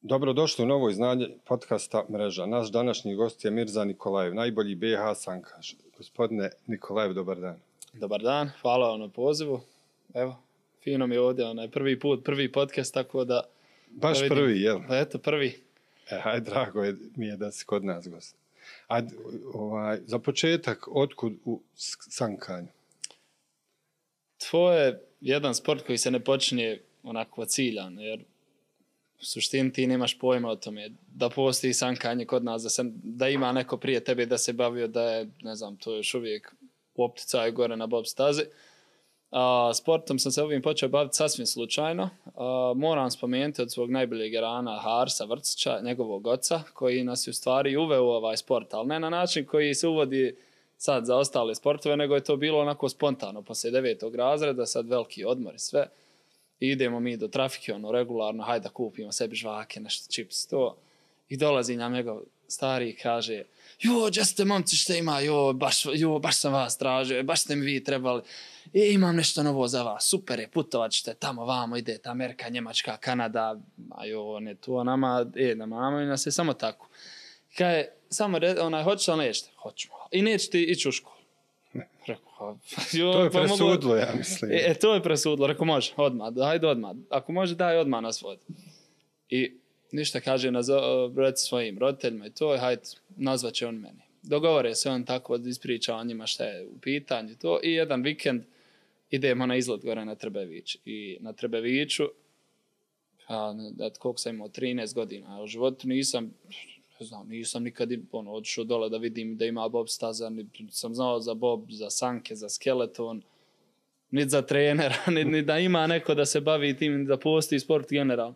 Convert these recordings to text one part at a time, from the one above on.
Dobrodošli u novo izdanje podcasta Mreža. Naš današnji gost je Mirza Nikolajev, najbolji BiH sankaš. Gospodine Nikolajev, dobar dan. Dobar dan, hvala vam na pozivu. Evo, fino mi je ovdje, prvi podcast, tako da... Baš da prvi, jel? Pa eto, prvi. Hajde, drago mi je da si kod nas gost. Za početak, otkud u sankanju? To je jedan sport koji se ne počinje onako ciljan, jer u suštini ti nemaš pojma o tome da postoji sankanje kod nas, da ima neko prije tebe da se bavio, da je, ne znam, to još uvijek u opticaju gore na bob stazi. Sportom sam se ovim počeo baviti sasvim slučajno. Moram spomenuti od svog najboljeg rana Harsa Vrcića, njegovog oca, koji nas je u stvari uveo u ovaj sport, ali ne na način koji se uvodi sad za ostale sportove, nego je to bilo onako spontano, poslije 9. razreda, sad veliki odmor i sve. I idemo mi do trafike, regularno, hajde da kupimo sebi žvake, nešto čips, to. I dolazi nam njegov stari i kaže, gdje ste momci, što ima, baš sam vas tražio, baš ste mi vi trebali, imam nešto novo za vas, super je, putovat ćete tamo, vamo idete, Amerika, Njemačka, Kanada, ne to nama, nama i nas je samo tako. Kaže, samo hoćeš li nećete? Hoćemo. I nećete ići u školu. Rekao, to je presudlo, ja mislim. To je presudlo, rekao, može, odmah, hajde odmah. Ako može, daj odmah nas vodi. I ništa kaže, reci svojim roditeljima i to je, hajde, nazvat će on meni. Dogovore se on tako, ispriča o njima šta je u pitanju to. I jedan vikend idemo na izlet gore na Trbević. I na Trbeviću, koliko sam imao, 13 godina, u životu nisam nikad otišao dole da vidim da ima bob staza, sam znao za bob, za sanke, za skeleton, niti za trenera, ni da ima neko da se bavi tim, da postoji sport generalno.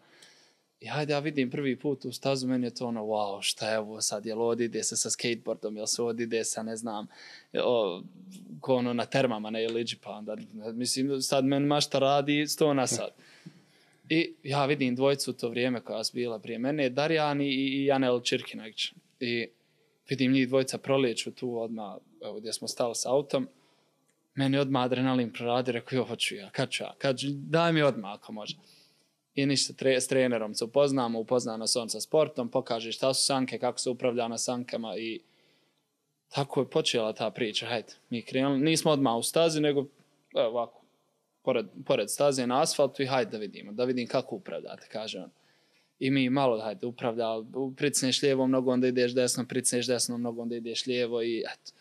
I hajde, ja vidim prvi put u stazu, meni je to wow, šta je ovo sad, jel ovdje ide se sa skateboardom, jel se ovdje ide sa, ne znam, na termama, ne jeliđi, pa onda, mislim, sad meni mašta radi 100 na sat. I ja vidim dvojicu u to vrijeme koja su bila prije mene, Darjan i Janel Čirkinagić. I vidim njih dvojica prolijeću tu odmah, gdje smo stali s autom. Meni odmah adrenalin proradi, rekao, hoću ja, kad ću ja, daj mi odmah ako može. I ništa, s trenerom se upozna nas on sa sportom, pokaže šta su sanke, kako se upravlja na sankama i tako je počela ta priča. Hajde, mi krenuli, nismo odmah u stazi, nego ovako. Pored staze na asfaltu i hajde da vidim kako upravljate, kaže on. I mi malo, hajde, upravlja, pricneš lijevom nogom, onda ideš desno, pricneš desnom nogom, onda ideš lijevo i eto.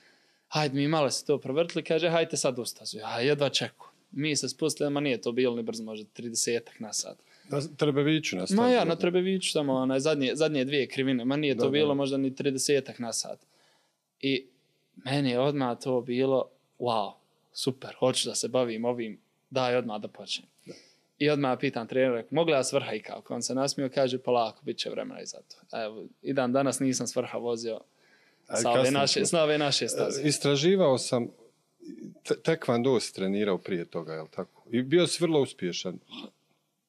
Hajde, mi malo se to provrtili, kaže, hajde sad u stazu. Ja jedva čeku. Mi se spustili, ma nije to bilo ni brzo, možda 30-ak na sat. Na Trbeviću na stazu? Ma ja, na Trbeviću, samo zadnje dvije krivine, ma nije to bilo možda ni 30-ak na sat. I meni je odmah to bilo, wow, super, hoću da se bavim ovim, daj odmah da počnem. Da. I odmah pitam trenera, mogu li ja s vrha i kako? On se nasmio, kaže, polako, bit će vremena i za to. Evo, i dan danas nisam s vrha vozio sa ove naše staze. Istraživao sam, tekvando si trenirao prije toga, je li tako? I bio si vrlo uspješan.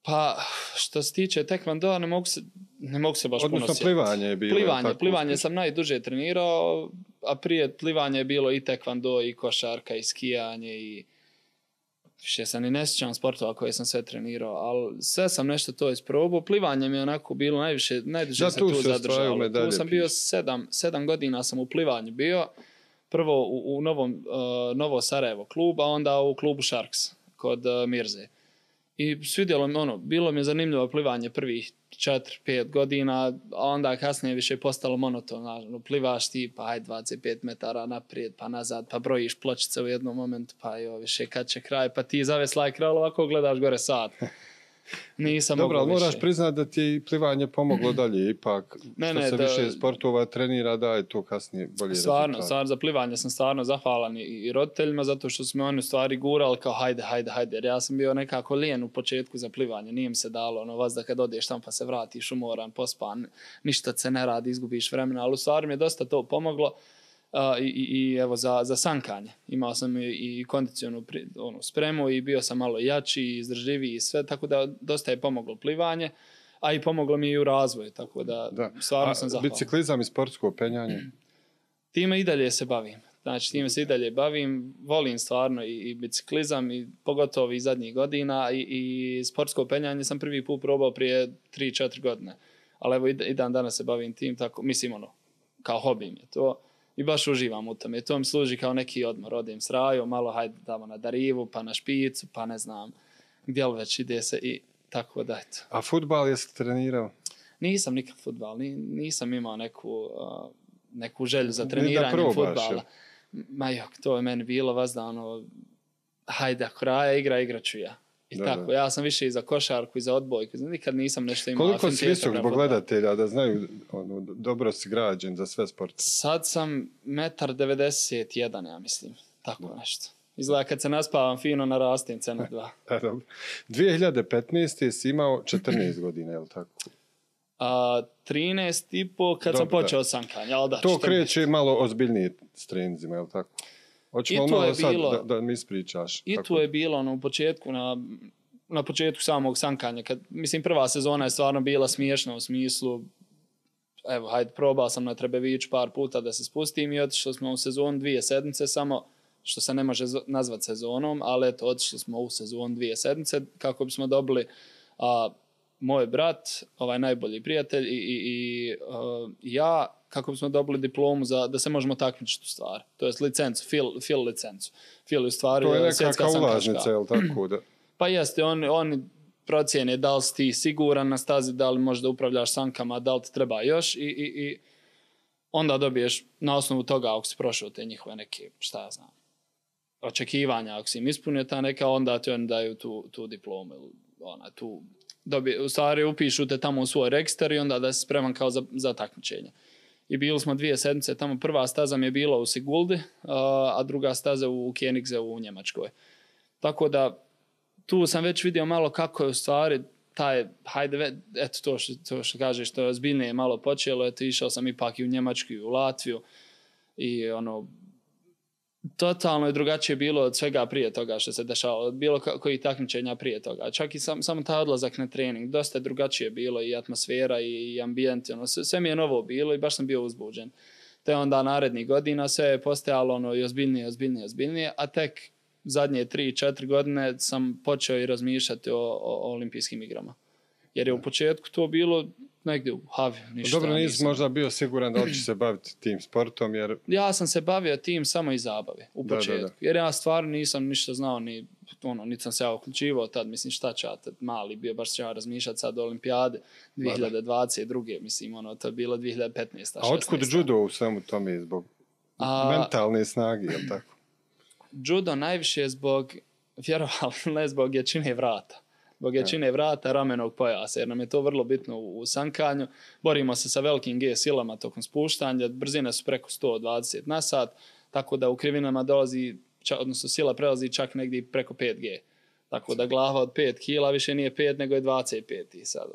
Pa, što se tiče tekvandoa, ne mogu se baš puno sjetiti. Odnosno plivanje je bilo. Plivanje sam najduže trenirao, a prije plivanja je bilo i tekvando, i košarka, i skijanje, i više sam i ne sjećam sportova koje sam sve trenirao, ali sve sam nešto to isprobao. Plivanje mi je onako bilo najduže sam tu zadržao. Tu sam bio 7 godina sam u plivanju bio. Prvo u Novo Sarajevo klubu, a onda u klubu Sharks kod Mirze. I svidjelo mi bilo mi je zanimljivo plivanje prvih 4-5 godina, a onda kasnije više postalo monotono. Plivaš ti, pa hajde 25 metara naprijed, pa nazad, pa brojiš pločice u jednom momentu, pa više kad će kraj, pa ti zaveslaj kraj, ovako gledaš gore sat. Nisam dobro, ali moraš više. priznati da ti je plivanje pomoglo dalje, ipak što se više sportova trenira, da je to kasnije bolje rezultat. Stvarno, za plivanje sam stvarno zahvalan i roditeljima, zato što su me oni u stvari gurali kao hajde, jer ja sam bio nekako lijen u početku za plivanje, nije mi se dalo, vas da kad odeš tamo pa se vratiš umoran, pospan, ništa se ne radi, izgubiš vremena, ali u stvari mi je dosta to pomoglo. I evo za sankanje. Imao sam i kondicionu spremu i bio sam malo jači i izdržljiviji i sve, tako da dosta je pomoglo plivanje, a i pomoglo mi i u razvoju, tako da stvarno sam zahvalan. Biciklizam i sportsko penjanje? Time i dalje se bavim. Znači, time se i dalje bavim, volim stvarno i biciklizam, i pogotovo i zadnjih godina, i sportsko penjanje sam prvi put probao prije 3-4 godine. Ali evo i dan danas se bavim tim, tako, mislim ono, kao hobi mi je to. I baš uživam u tome. To mi služi kao neki odmor. Odim s Rajom, malo hajde tamo na Darivu, pa na Špicu, pa ne znam gdje li već ide se i tako da eto. A fudbal jesi trenirao? Nisam nikad fudbal, nisam imao neku želju za treniranjem fudbala. Ma jok, to je meni bilo vazda ono, hajde ako Raja igrat ću ja. I tako, ja sam više i za košarku i za odbojku. Nikad nisam nešto imao. Koliko si visok zbog gledatelja da znaju, dobro si građen za sve sporte? Sad sam 1,91 m, ja mislim. Tako nešto. Izgleda kad se naspavam fino narastim cena 2. 2015. si imao 14 godina, je li tako? 13,5 kad sam počeo sankanje. To kreće malo ozbiljnije s treninzima, je li tako? Hoćemo malo sad da mi ispričaš. I tu je bilo u početku, na početku samog sankanja. Mislim, prva sezona je stvarno bila smiješna u smislu, evo, hajde, probao sam na Trebeviću par puta da se spustim i otišli smo u sezonu 2 sedmice samo, što se ne može nazvati sezonom, ali eto, otišli smo u sezonu 2 sedmice kako bismo dobili moj brat, najbolji prijatelj i ja, kako bismo dobili diplomu da se možemo takmičiti u stvari. To je licencu, FIL licencu. FIL je u stvari to je nekakva ulaznica, je li tako? Da? Pa jeste, oni procijene da li si ti siguran na stazi, da li možda upravljaš sankama, da li ti treba još i onda dobiješ na osnovu toga ako si prošao te njihove neke, šta ja znam, očekivanja, ako si im ispunio ta neka, onda ti oni daju tu diplomu. U stvari upišu te tamo u svoj registar i onda da si spreman kao za takmičenje. I bili smo 2 sedmice, tamo prva staza mi je bila u Siguldi, a druga staza u Koenigse u Njemačkoj. Tako da tu sam već vidio malo kako je u stvari taj, hajde, eto to što kažeš, to je ozbiljnije malo počelo, eto išao sam ipak i u Njemačku i u Latviju i totalno je drugačije bilo od svega prije toga što se dešavalo, od bilo kojih takmičenja prije toga. Čak i samo taj odlazak na trening, dosta je drugačije bilo i atmosfera i ambijent, sve mi je novo bilo i baš sam bio uzbuđen. Te onda narednih godina sve je postajalo i ozbiljnije, a tek zadnje 3-4 godine sam počeo i razmišljati o olimpijskim igrama. Jer je u početku to bilo negdje u Haviju. Dobro, nisi možda bio siguran da li će se baviti tim sportom, jer... Ja sam se bavio tim samo iz zabave, u početku. Jer ja stvarno nisam ništa znao, niti sam se ja uključivao tad, mislim šta će ja tad mali bio, baš će ja razmišljati sad o olimpijade 2022. Mislim, to je bilo 2015. A otkud judo u svemu tome zbog mentalne snage, je li tako? Judo najviše zbog, vjerovali ne zbog jačine vrata. Zbog jačine vrata, ramenog pojasa, jer nam je to vrlo bitno u sankanju. Borimo se sa velikim G silama tokom spuštanja, brzine su preko 120 na sat, tako da u krivinama dolazi, odnosno sila prelazi čak negdje preko 5G. Tako da glava od 5 kila više nije 5, nego je 25 i sad.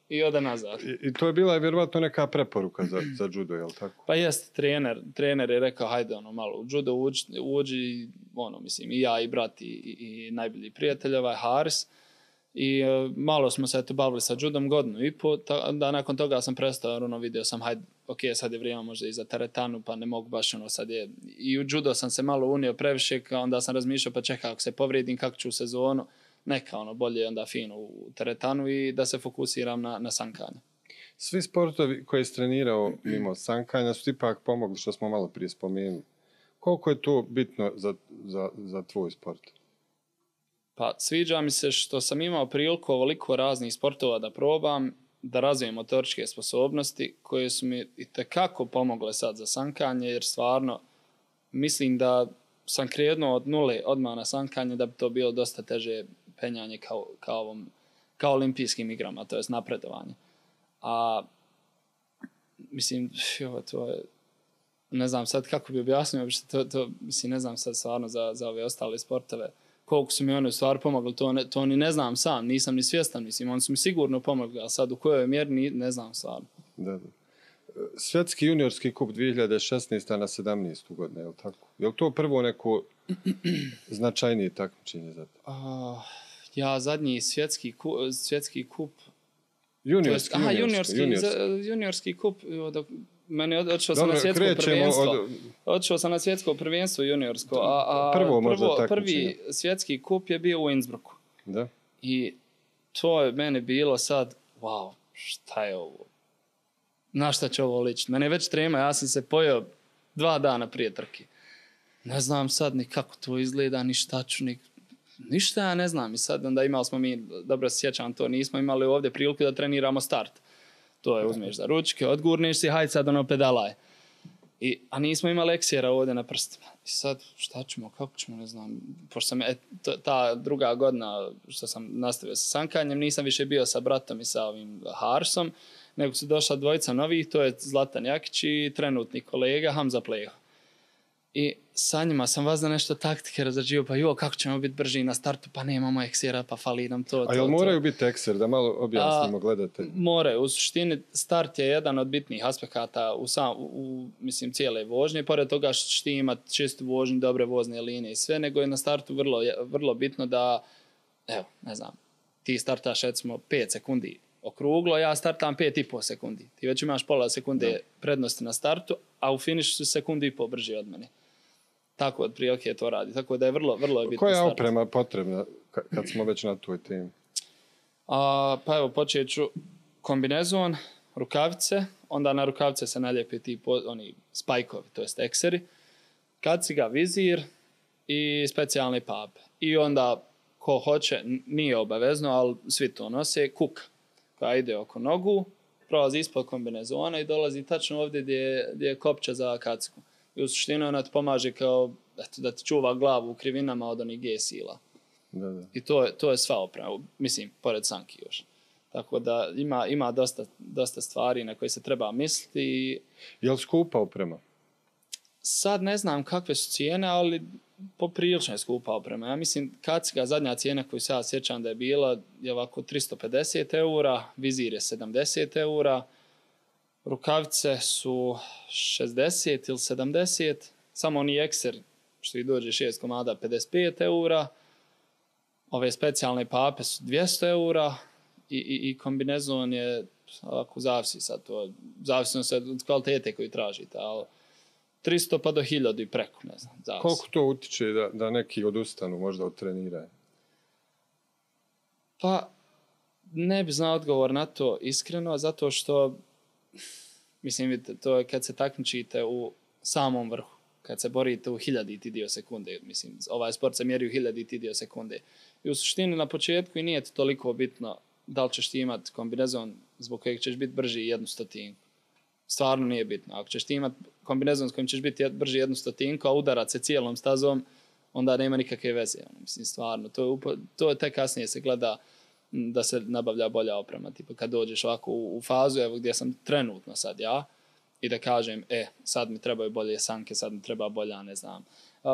I ode nazad. I to je bila vjerovatno neka preporuka za judo, je li tako? Pa jest, trener je rekao, hajde malo u judo uđi, mislim, i ja i brat i najbolji prijatelj, Haris. I malo smo se bavili sa judom 1.5 godina, da nakon toga sam prestao, vidio sam, hajde, ok, sad je vrijeme možda i za teretanu, pa ne mogu baš, sad je, i u judo sam se malo unio previše, onda sam razmišljao, pa čekaj, ako se povrijedim, kako ću u sezonu, neka, bolje onda fino u teretanu i da se fokusiram na sankanje. Svi sportovi koje si trenirao mimo sankanja su ipak pomogli, što smo malo prije spomenuli. Koliko je to bitno za tvoj sport? Pa sviđa mi se što sam imao priliku ovoliko raznih sportova da probam, da razvijem motoričke sposobnosti koje su mi itekako pomogle sad za sankanje, jer stvarno mislim sam krenuo od nule odmah na sankanje da bi to bilo dosta teže penjanje kao olimpijskim igrama, to je napredovanje. A mislim, to je, ne znam sad kako bi objasnio, mislim, ne znam sad stvarno za ove ostale sportove, koliko su mi oni u stvari pomogli, to ni ne znam sam, nisam ni svjestan, mislim, oni su mi sigurno pomogli, a sad u kojoj mjeri ne znam stvarno. Da. Svjetski juniorski kup 2016. na 17. godinu, je li tako? Je li to prvo neko značajnije takmičenje za to? Ja zadnji svjetski kup... Juniorski kup, meni odšao sam na svjetsko prvenstvo. Odšao sam na svjetsko prvenstvo juniorsko, prvi svjetski kup je bio u Innsbrucku. Da. I to je meni bilo sad, wow, šta je ovo? na šta će ovo ličiti. Mene je već trema, ja sam se pojeo 2 dana prije trke. Ne znam sad ni kako to izgleda, ni šta ću, ništa ja ne znam. I sad onda imali smo mi, dobro se sjećam to, nismo imali ovdje priliku da treniramo start. To je uzmeš za ručke, odgurneš si, hajde sad ono pedalaj. A nismo imali eksijera ovdje na prstima. I sad šta ćemo, kako ćemo, ne znam. Pošto sam, ta druga godina što sam nastavio sa sankanjem, nisam više bio sa bratom i sa ovim Harsom, nego su došla 2 novih, to je Zlatan Jakić i trenutni kolega Hamza Pleho. I sa njima sam vazda nešto taktike razrađivao, pa kako ćemo biti brži na startu, pa nemamo eksijera, pa fali nam to. A jel moraju biti ekser, da malo objasnimo gledatelji? Moraju, u suštini start je jedan od bitnih aspekata u cijele vožnje, pored toga što ćeš ti imati čistu vožnju, dobre vozne linije i sve, nego je na startu vrlo bitno da, evo, ne znam, ti startaš recimo 5 sekundi okruglo, ja startam 5,5 sekundi. Ti već imaš pola sekunde prednosti na startu, a u finišu su 1,5 sekunde brži od mene. Tako otprilike to radi. Tako da je vrlo bitno. Koja je oprema potrebna kad smo već na toj temi? Pa evo, počet ću kombinezon, rukavice, onda na rukavice se naljepi ti oni spajkovi, to jest ekseri, kaciga, vizir i specijalne pape. I onda ko hoće, nije obavezno, ali svi to nose, kuka koja ide oko nogu, prolazi ispod kombinezona i dolazi tačno ovdje gdje je kopča za kacigu. I u suštini ona ti pomaže kao da ti čuva glavu u krivinama od onih G-sila. Da. I to je sva oprema, mislim, pored sanki još. Tako da ima dosta stvari na koje se treba misliti. Je li skupa oprema? Sad ne znam kakve su cijene, ali poprilično je skupa oprema. Ja mislim, kaciga, zadnja cijena koju se ja sjećam da je bila, je ovako 350 eura, vizir je 70 eura, rukavice su 60 ili 70, samo oni ekser, što ih dođe 6 komada, 55 eura, ove specijalne pape su 200 eura i kombinezon je, ako zavisi sad to, zavisno se od kvalitete koju tražite, ali 300 pa do 1000 i preko, ne znam, zavisi. Koliko to utiče da neki odustanu možda od treniranja? Pa, ne bi znao odgovor na to iskreno, zato što, mislim, vidite, to je kad se takmičite u samom vrhu, kad se borite u 1000 dio sekunde, mislim, ovaj sport se mjeri u 1000 dio sekunde. I u suštini na početku i nije to toliko bitno da li ćeš ti imati kombinezon zbog kojeg ćeš biti brži 1/100. Stvarno nije bitno. Ako ćeš ti imati kombinezon s kojim ćeš biti brži 1/100, a udarat se cijelom stazom, onda nema nikakve veze. Mislim, stvarno, to je tek kasnije se gleda da se nabavlja bolja oprema. Tipo, kad dođeš ovako u fazu, evo gdje sam trenutno sad ja, i da kažem, sad mi trebaju bolje sanke, sad mi treba bolja, ne znam,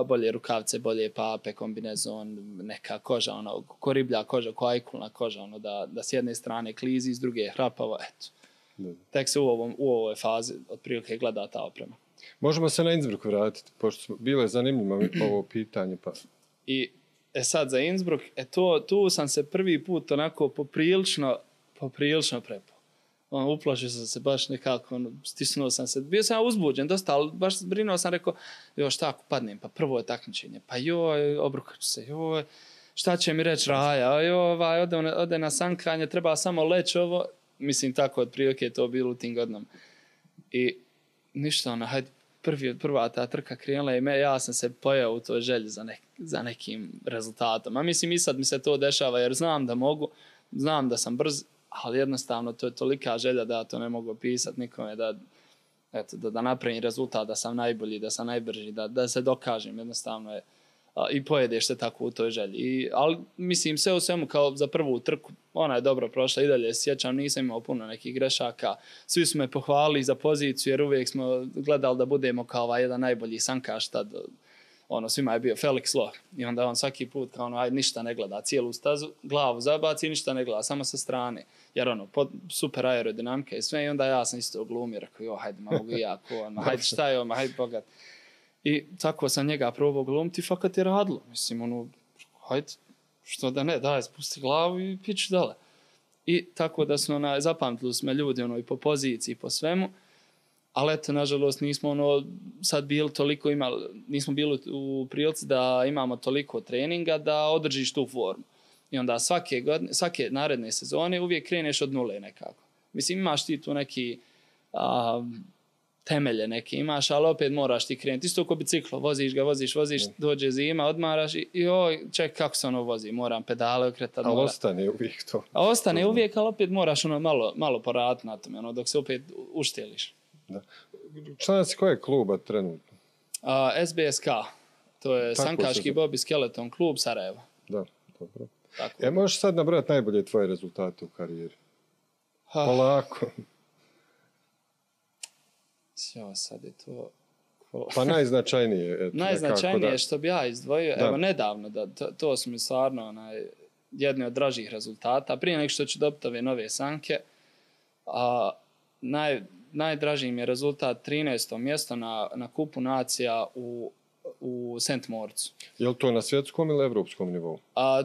bolje rukavce, bolje pape, kombinezon, neka koža, ono, ko riblja koža, ko ajkulna koža, ono, da s jedne strane klizi, s druge hrapavo, eto. Tek se u ovoj fazi otprilike gleda ta oprema. Možemo se na Innsbruck vratiti, pošto bilo je zanimljivo ovo pitanje. Pa. I sad za Innsbruck, tu sam se prvi put onako poprilično prepao. Uplašio sam se baš nekako, stisnuo sam se, bio sam uzbuđen dosta, ali baš brinuo sam, rekao, šta ako padnem, pa prvo je takmičenje, pa obrukat ću se, šta će mi reći Raja, ode na sankanje, treba samo leći ovo, mislim tako otprilike je to bilo u tim godinama. I ništa, hajde, prva ta trka krenula i ja sam se pojao u toj želji za nekim rezultatom. A mislim i sad mi se to dešava jer znam da mogu, znam da sam brz, ali jednostavno to je tolika želja da ja to ne mogu opisati nikome, da napravim rezultat, da sam najbolji, da sam najbrži, da se dokažem, jednostavno je. I pojedeš se tako u toj želji. Ali mislim sve u svemu kao za prvu trku, ona je dobro prošla i dalje sjećam, nisam imao puno nekih grešaka. Svi su me pohvalili za poziciju jer uvijek smo gledali da budemo kao jedan najbolji sankaš tad. Svima je bio Felix Loh i onda on svaki put ništa ne gleda, cijelu stazu, glavu zabaci, ništa ne gleda, samo sa strane. Jer super aerodinamika i sve i onda ja sam isto glumio, rekao, hajde, mogu i ja, hajde šta je hajde bogat. I tako sam njega probao glumiti, fakat je radilo. Mislim, hajde, što da ne, daj, spusti glavu i pići dole. I tako da smo zapamtili smo ljudi i po poziciji, po svemu, ali eto, nažalost, nismo sad bili toliko nismo bili u prilici da imamo toliko treninga da održiš tu formu. I onda svake naredne sezone uvijek kreneš od nule nekako. Mislim, imaš ti tu neki temelje neke imaš, ali opet moraš ti krenuti. Isto ko biciklo, voziš ga, voziš, dođe zima, odmaraš i ček, kako se ono vozi, moram pedale okretati. Ali ostane uvijek to. A ostane uvijek, ali opet moraš malo poraditi na tome, dok se opet ušteliš. Da. Član si koje kluba trenutno? SBSK, to je Sankaški Bob i Skeleton klub Sarajevo. Da, dobro. Možeš sad nabrojati najbolje tvoje rezultate u karijeri? Polako. Sad je to... Pa najznačajnije. Najznačajnije što bi ja izdvojio, evo nedavno, to su mi stvarno jedni od dražih rezultata. Prije nek što ću dobiti ove nove sanke, najdraži mi je rezultat 13. mjesto na kupu nacija u St. Moritzu. Je li to na svjetskom ili evropskom nivou?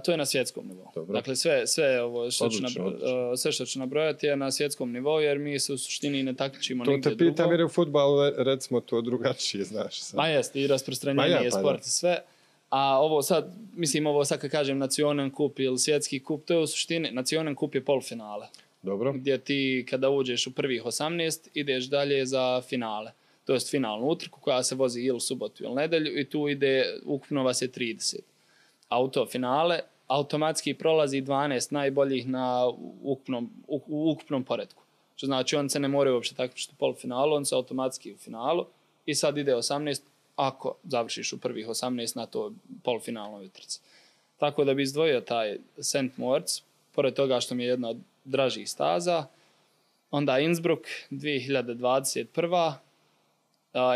To je na svjetskom nivou. Dobro. Dakle, sve ovo što ću nabrojati je na svjetskom nivou, jer mi se u suštini ne takmičimo nigdje drugo. To te pitam jer je u fudbalu, recimo, to drugačije, znaš. Pa jest, i rasprostranjenje sport i sve. A ovo sad kad kažem Nacionen kup ili svjetski kup, to je u suštini, Nacionen kup je polufinale. Dobro. Gdje ti kada uđeš u prvih 18, ideš dalje za finale. To jest finalnu utrku koja se vozi ili subotu ili nedelju i tu ide, ukupno vas je 30. Auto finale, automatski prolazi 12 najboljih u ukupnom poredku. Što znači on se ne moraju uopšte takmičiti u polufinalu, on se automatski u finalu i sad ide 18 ako završiš u prvih 18 na to polufinalnoj utrci. Tako da bi izdvojio taj St. Moritz, pored toga što mi je jedna od dražih staza, onda Innsbruck 2021.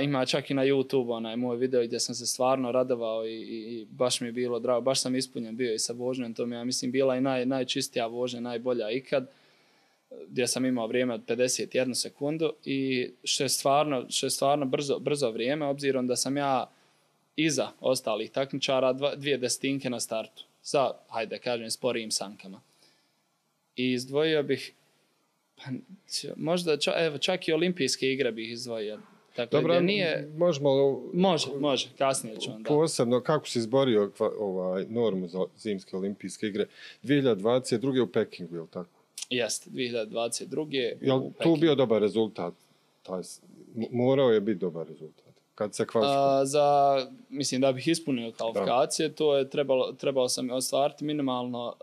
Ima čak i na YouTube moj video gdje sam se stvarno radovao i baš mi je bilo drago, baš sam ispunjen bio i sa vožnjom, to mi je, mislim, bila i najčistija vožnja, najbolja ikad, gdje sam imao vrijeme od 51 sekundu i što je stvarno brzo vrijeme, obzirom da sam ja iza ostalih takmičara 2 desetinke na startu, sa, hajde kažem, sporijim sankama. I izdvojio bih, možda čak i olimpijske igre bih izdvojio. Dakle, dobro, može, kasnije ću onda. Posebno, kako si izborio normu za zimske olimpijske igre? 2022. u Pekingu, je li tako? Jeste, 2022. Je li tu bio dobar rezultat? Morao je biti dobar rezultat. Kad se kvalifikuje? Mislim da bih ispunio kvalifikacije, to je trebalo sam ostvariti minimalno,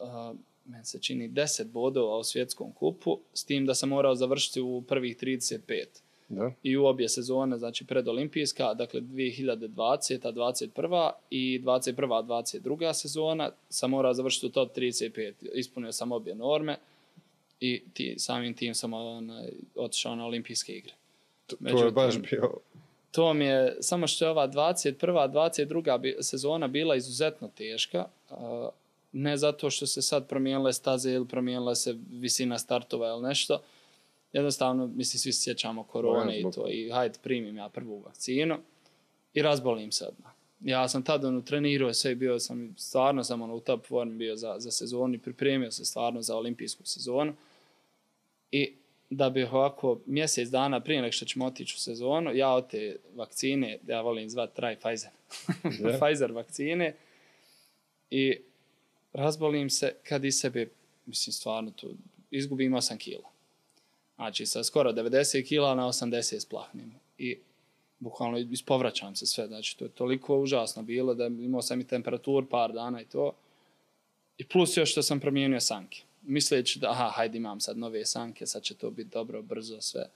meni se čini 10 bodova u svjetskom kupu, s tim da sam morao završiti u prvih 35. Da. I u obje sezone, znači predolimpijska, dakle 2020. 21. i 21. 22. sezona, sam morao završiti u top 35. Ispunio sam obje norme i samim tim sam otišao na olimpijske igre. To je baš bio... To mi je, samo što je ova 21. 22. sezona bila izuzetno teška, ne zato što se sad promijenile staze ili promijenila se visina startova ili nešto. Jednostavno, mislim, svi se sjećamo korone i to. I hajde, primim ja prvu vakcinu i razbolim se odmah. Ja sam tada trenirao sve i bio sam, stvarno sam u top formi bio za sezonu i pripremio se stvarno za olimpijsku sezonu. I da bih ovako mjesec dana prije nego što ćemo otići u sezonu, ja od te vakcine, ja volim zvati Pfizer, Pfizer vakcine, i razbolim se kad iz sebe, mislim, stvarno to, izgubim 8 kila. Znači, sa skoro 90 kila na 80 splahnem. I bukvalno ispovraćam se sve. Znači, to je toliko užasno bilo da imao sam i temperaturu par dana i to. I plus još što sam promijenio sanke. Misleći da, hajde, imam sad nove sanke, sad će to biti dobro, brzo, sve.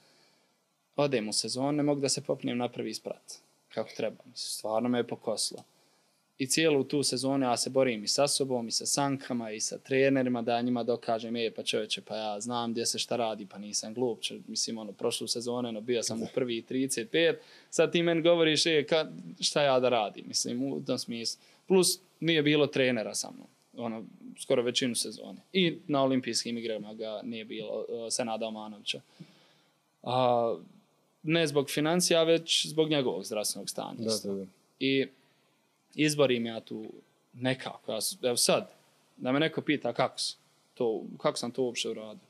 Odem u sezonu, ne mogu da se popnem na prvi sprat. Kako treba. Stvarno me je pokoslo. I cijelu tu sezonu ja se borim i sa sobom, i sa sankama, i sa trenerima, da njima dokažem, pa čovječe, pa ja znam gdje se šta radi, pa nisam glup. Mislim, prošlu sezonu bio sam u prvi 35, sad ti meni govoriš, šta ja da radim, mislim, u tom smislu. Plus, nije bilo trenera sa mnom, skoro većinu sezone. I na olimpijskim igrama ga nije bilo, Senada Omanovića. Ne zbog financija, već zbog njegovog zdravstvenog stanja. Da. I izborim ja tu nekako. Evo sad, da me neko pita kako sam to uopće uradio.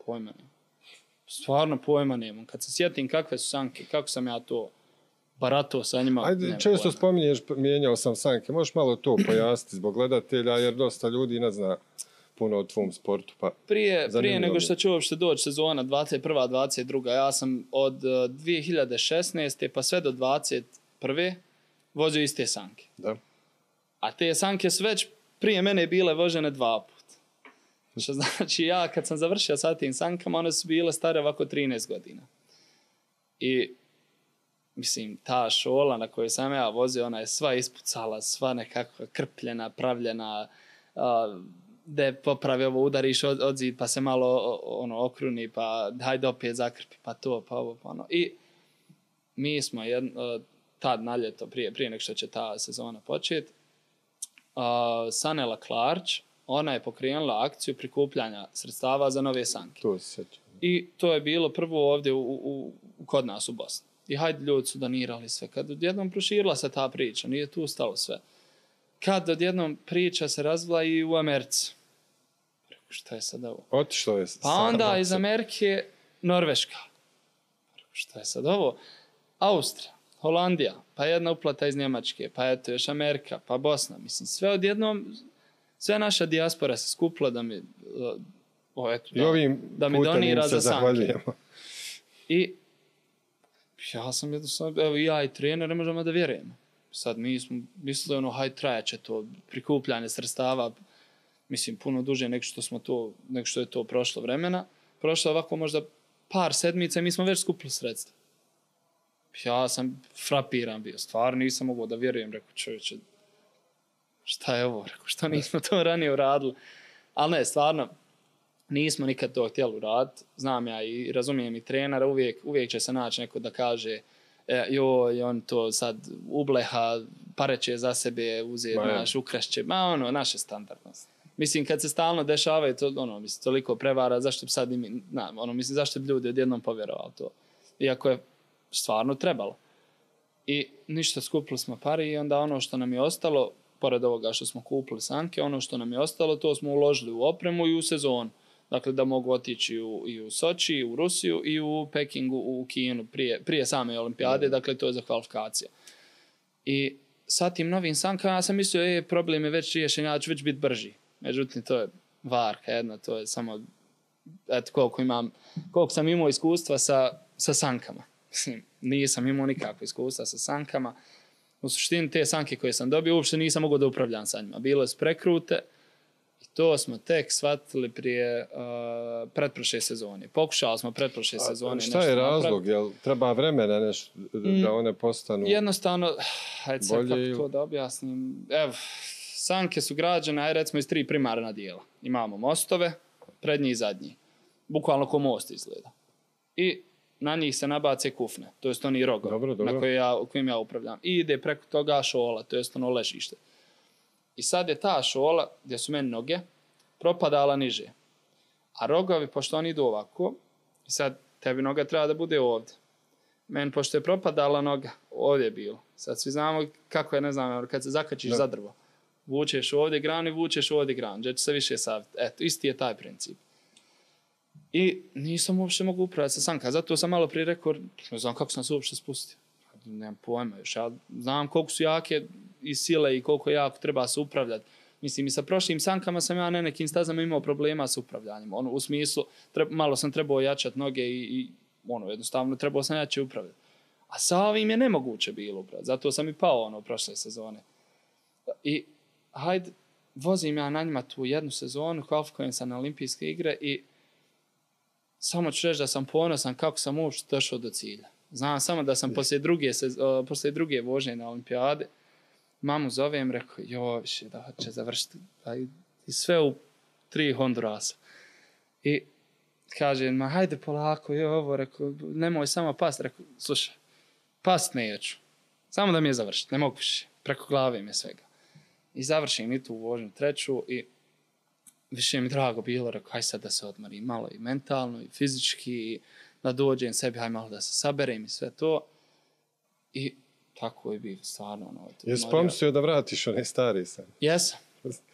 Pojma nemam. Stvarno pojma nemam. Kad se sjetim kakve su sanke, kako sam ja to barato sa njima. Ajde, često spominješ, mijenjao sam sanke. Možeš malo to pojasniti zbog gledatelja, jer dosta ljudi ne zna puno o tvom sportu. Pa prije nego što će uopšte doći sezona 21. 22. Ja sam od 2016. pa sve do 21. vozio iste sanke. Da. A te sanke su već prije mene bile vožene 2 puta. Što znači ja kad sam završio sa tim sankama, one su bile stare ovako 13 godina. I mislim, ta šola na kojoj sam ja vozio, ona je sva ispucala, sva nekako krpljena, pravljena, da popravi ovo, udariš odzid, pa se malo okruni, pa hajde opet zakrpi, pa to, pa ovo, pa ono. I mi smo tad na ljeto, prije nego što će ta sezona početi, Sanela Klarč, ona je pokrenula akciju prikupljanja sredstava za nove sanke. To se sjećam. I to je bilo prvo ovdje kod nas u Bosni. I hajde, ljudi su donirali sve. Kad odjednom proširila se ta priča, nije tu stalo sve. Kad odjednom priča se razvila i u Americi. Šta je sad ovo? Otišlo je. Pa onda iz Amerike Norveška. Šta je sad ovo? Austrija, Holandija, pa jedna uplata iz Njemačke, pa eto još Amerika, pa Bosna. Mislim, sve odjednom, sve naša dijaspora se skupila da mi, da mi donira za sanke. I ja sam jednostavno, evo ja i trener ne možemo da vjerujemo. Sad mi smo mislili hajde trajaće to prikupljanje sredstava, mislim puno duže nego što je to prošlo vremena. Prošlo ovako možda par sedmica i mi smo već skupili sredstva. Ja sam frapiran bio, stvarno nisam mogao da vjerujem, rekao čovječe, šta je ovo, rekao što nismo to ranije uradili. Ali ne, stvarno, nismo nikad to htjeli uraditi. Znam ja i razumijem i trenera, uvijek će se naći neko da kaže joj, on to sad ubleha, pare će za sebe uzeti, ukrašće, naše standardnost. Mislim, kad se stalno dešavaju to, mislim, toliko prevara, zašto bi sad mislim, zašto bi ljudi odjednom povjerovali to? Iako je stvarno trebalo. I ništa, skupili smo pare i onda ono što nam je ostalo, pored ovoga što smo kupili sanke, ono što nam je ostalo, to smo uložili u opremu i u sezonu. Dakle, da mogu otići i u Soči, i u Rusiju, i u Pekingu, u Kinu, prije same olimpijade, dakle, to je za kvalifikacija. I sa tim novim sankama ja sam mislio, problem je već riješen, ja ću već biti brži. Međutim, to je varka jedna, to je samo, eto, koliko sam imao iskustva sa sankama. Nisam imao nikakvo iskustva sa sankama. U suštini, te sanke koje sam dobio, uopšte nisam mogao da upravljam sa njima. Bile su prekrute i to smo tek shvatili prije pretprošle sezone. Pokušali smo pretprošle sezone. Šta je razlog? Jel treba vremena nešto da one postanu jednostavno, hajde sad kako to da objasnim. Evo, sanke su građene, recimo, iz 3 primarna dijela. Imamo mostove, prednji i zadnji. Bukvalno ko most izgleda. I na njih se nabace kufne, to jest oni rogovi na kojim ja upravljam. I ide preko toga šola, to jest ono ležište. I sad je ta šola, gdje su meni noge, propadala niže. A rogovi, pošto oni idu ovako, i sad tebi noga treba da bude ovdje. Meni, pošto je propadala noga, ovdje je bilo. Sad svi znamo kako je, ne znam, kad se zakačiš za drvo. Vučeš ovdje granu i vučeš ovdje granu, gdje će se više saviti. Eto, isti je taj princip. I nisam uopšte mogu upravljati sa sanka. Zato sam malo prije rekao, ne znam kako sam se uopšte spustio. Nemam pojma još. Ja znam koliko su jake i sile i koliko jako treba se upravljati. Mislim, i sa prošlim sankama sam ja na nekim stazama imao problema sa upravljanjem. U smislu, malo sam trebao jačati noge i jednostavno trebao sam jače upravljati. A sa ovim je nemoguće bilo upravljati. Zato sam i pao prošle sezone. I hajde, vozim ja na njima tu jednu sezonu, kvalifikujem sam na olimpijske igre i samo ću reći da sam ponosan kako sam uopšte došao do cilja. Znam samo da sam poslije druge vožnje na olimpijade mamu zovem, rekao, više da će završiti. I sve u 3 Hondurasa. I kaže, hajde polako, rekao, nemoj samo past. Rekao, slušaj, past neću. Samo da mi je završiti, ne mogu više. Preko glave mi je svega. I završim i tu vožnju 3. i više mi drago bilo, rekao, haj sad da se odmorim malo i mentalno i fizički, da dođem sebi, haj malo da se saberem i sve to. I tako je bilo, stvarno. Jesi pomislio da vratiš onaj stari san?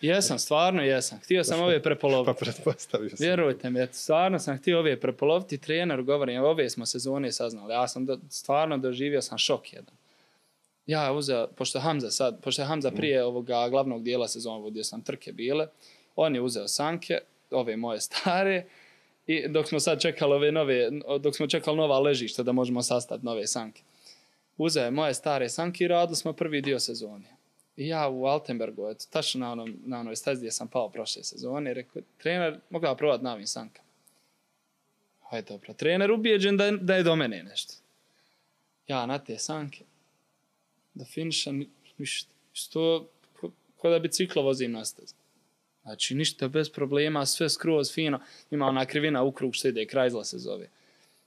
Jesam, stvarno jesam. Htio sam ove prepoloviti. Pa pretpostavio sam. Vjerujte mi, stvarno sam htio ove prepoloviti. Trener govorim, ove smo sezone saznali. Ja sam stvarno doživio sam šok jedan. Ja uzeo, pošto je Hamza prije ovoga glavnog dijela sezona, gdje sam trke bile, On je uzeo sanke, ove moje stare, i dok smo sad čekali dok smo čekali nova ležišta da možemo sastaviti nove sanke. Uzeo je moje stare sanke i radili smo prvi dio sezone. I ja u Altenbergu, tačno na onoj stazi gdje sam pao prošle sezone, rekao, trener, mogu ja probati na ovim sankama. Hajde, dobro. Trener ubijeđen da je do mene nešto. Ja na te sanke, da finišam, ništa. Što, ko da biciklo vozim na stazi. Znači, ništa bez problema, sve skroz fino. Ima ona krivina u krug što ide, Krajzla se zove.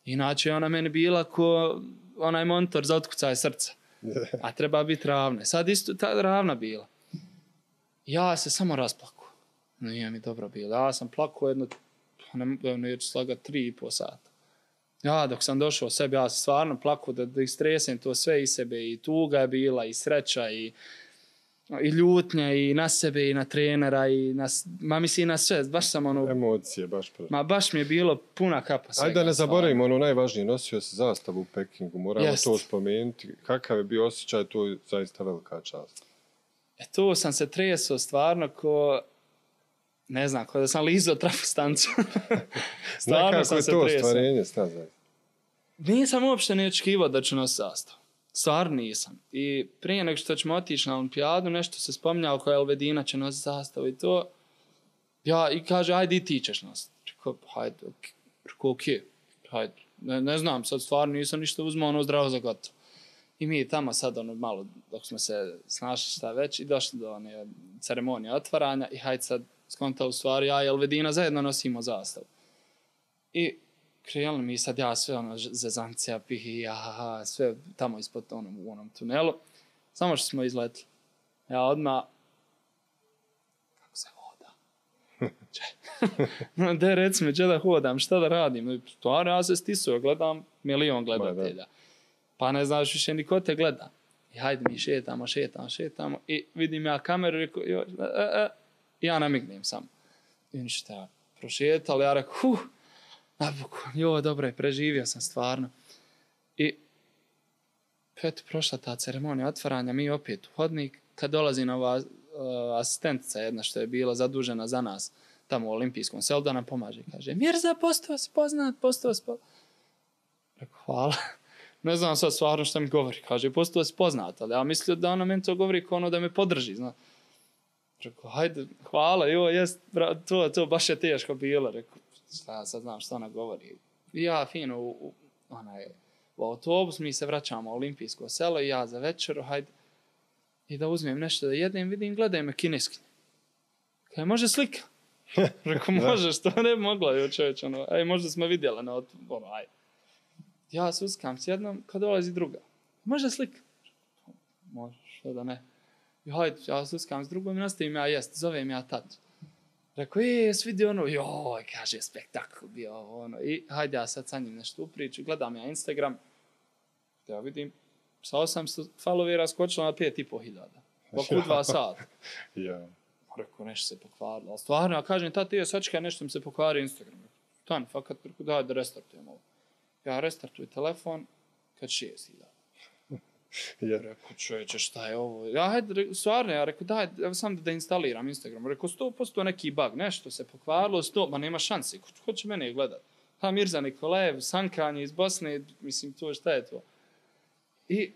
Inače, ona meni bila ko onaj montor za otkucaj srca. A treba biti ravna. Sad isto ta ravna bila. Ja se samo rasplakao. Nije mi dobro bilo. Ja sam plakao jedno, neću slagati 3,5 sata. Ja dok sam došao sebi, ja sam stvarno plakao da istresem to sve iz sebe. I tuga je bila, i sreća, i ljutnja, i na sebe, i na trenera, i na sve. Baš sam emocije, baš prvo. Baš mi je bilo puna kapa svega. Ajde da ne zaboravimo najvažnije, nosio se zastavu u Pekingu, moramo to spomenuti. Kakav je bio osjećaj, to je zaista velika čast. Tu sam se tresao stvarno ne znam, da sam lizao trafostancu. Stvarno sam se tresao. Nekako je to stvarenje, stazaj. Nisam uopšte ne očekivao da ću nositi zastavu. Stvarno nisam. I prije nego što ćemo otići na olimpijadu, nešto se spominjalo koja Elvedina će nositi zastavu i to. Ja, i kaže, ajde i ti ćeš nositi. Rekao, hajde, okej. Hajde. Ne znam, sad stvarno nisam ništa uzmao, zdravo za gotovo. I mi tamo sad malo, dok smo se snašli šta već, i došli do one ceremonije otvaranja i hajde sad skontali u stvari, ja i Elvedina zajedno nosimo zastavu. I krenuli mi sad ja sve zezancija, pihi, sve tamo ispod u onom tunelu. Samo što smo izletili. Ja odmah, kako se hoda? De reci mi, če da hodam, šta da radim? Stvarno ja se stisuo, gledam milion gledatelja. Pa ne znaš više niko te gleda. I hajde mi šetamo i vidim ja kameru, rekao, ja namignem samo. I ništa, prošetali, ja rekao, napokon, dobro je, preživio sam stvarno. I eto, prošla ta ceremonija otvaranja, mi opet u hodnik, kad dolazi nova asistentica jedna što je bila zadužena za nas tamo u olimpijskom selu, da nam pomaže. Kaže, Mirza, postao si poznat. Rekao, hvala. Ne znam sad stvarno što mi govori. Kaže, postao si poznat, ali ja mislio da ona meni to govori kao da me podrži, zna. Rekao, hajde, hvala, to baš je teško bilo. Rekao, sad znam što ona govori. I ja fino u autobus, mi se vraćamo u olimpijsko selo i ja za večeru, hajde, i da uzmem nešto da jedem, vidim, gledaj me kineskinje. Kaj, može slika? Rekao, može, što ne bi mogla, čovječ, možda smo vidjeli na ajde. Ja se uskam s jednom, kad dolazi druga. Može slika? Može, što da ne. I hajde, ja se uskam s drugom i nastavim ja jest, zovem ja tatu. Rekao, jes vidio kaže, spektakl bio, I hajde, ja sad sa njim nešto upriču, gledam ja Instagram, da vidim, sa 800 followera skočilo na 5.500. Oko 2 sata. Rekao, nešto se pokvarilo. Ali stvarno, ja kažem, tati, sačekaj, nešto mi se pokvari Instagram. Tan, fakat, daj da restartujem ovo. Ja restartujem telefon, kad 6.000. Rekao, čovječe, šta je ovo? Ja, hajde, stvarno, ja rekao, daj, evo sam da instaliram Instagram. Rekao, 100% neki bug, nešto se pokvarilo, ma nema šansi, ko će mene gledat? Mirza Nikolajev, sankanje iz Bosne, mislim, to šta je to? I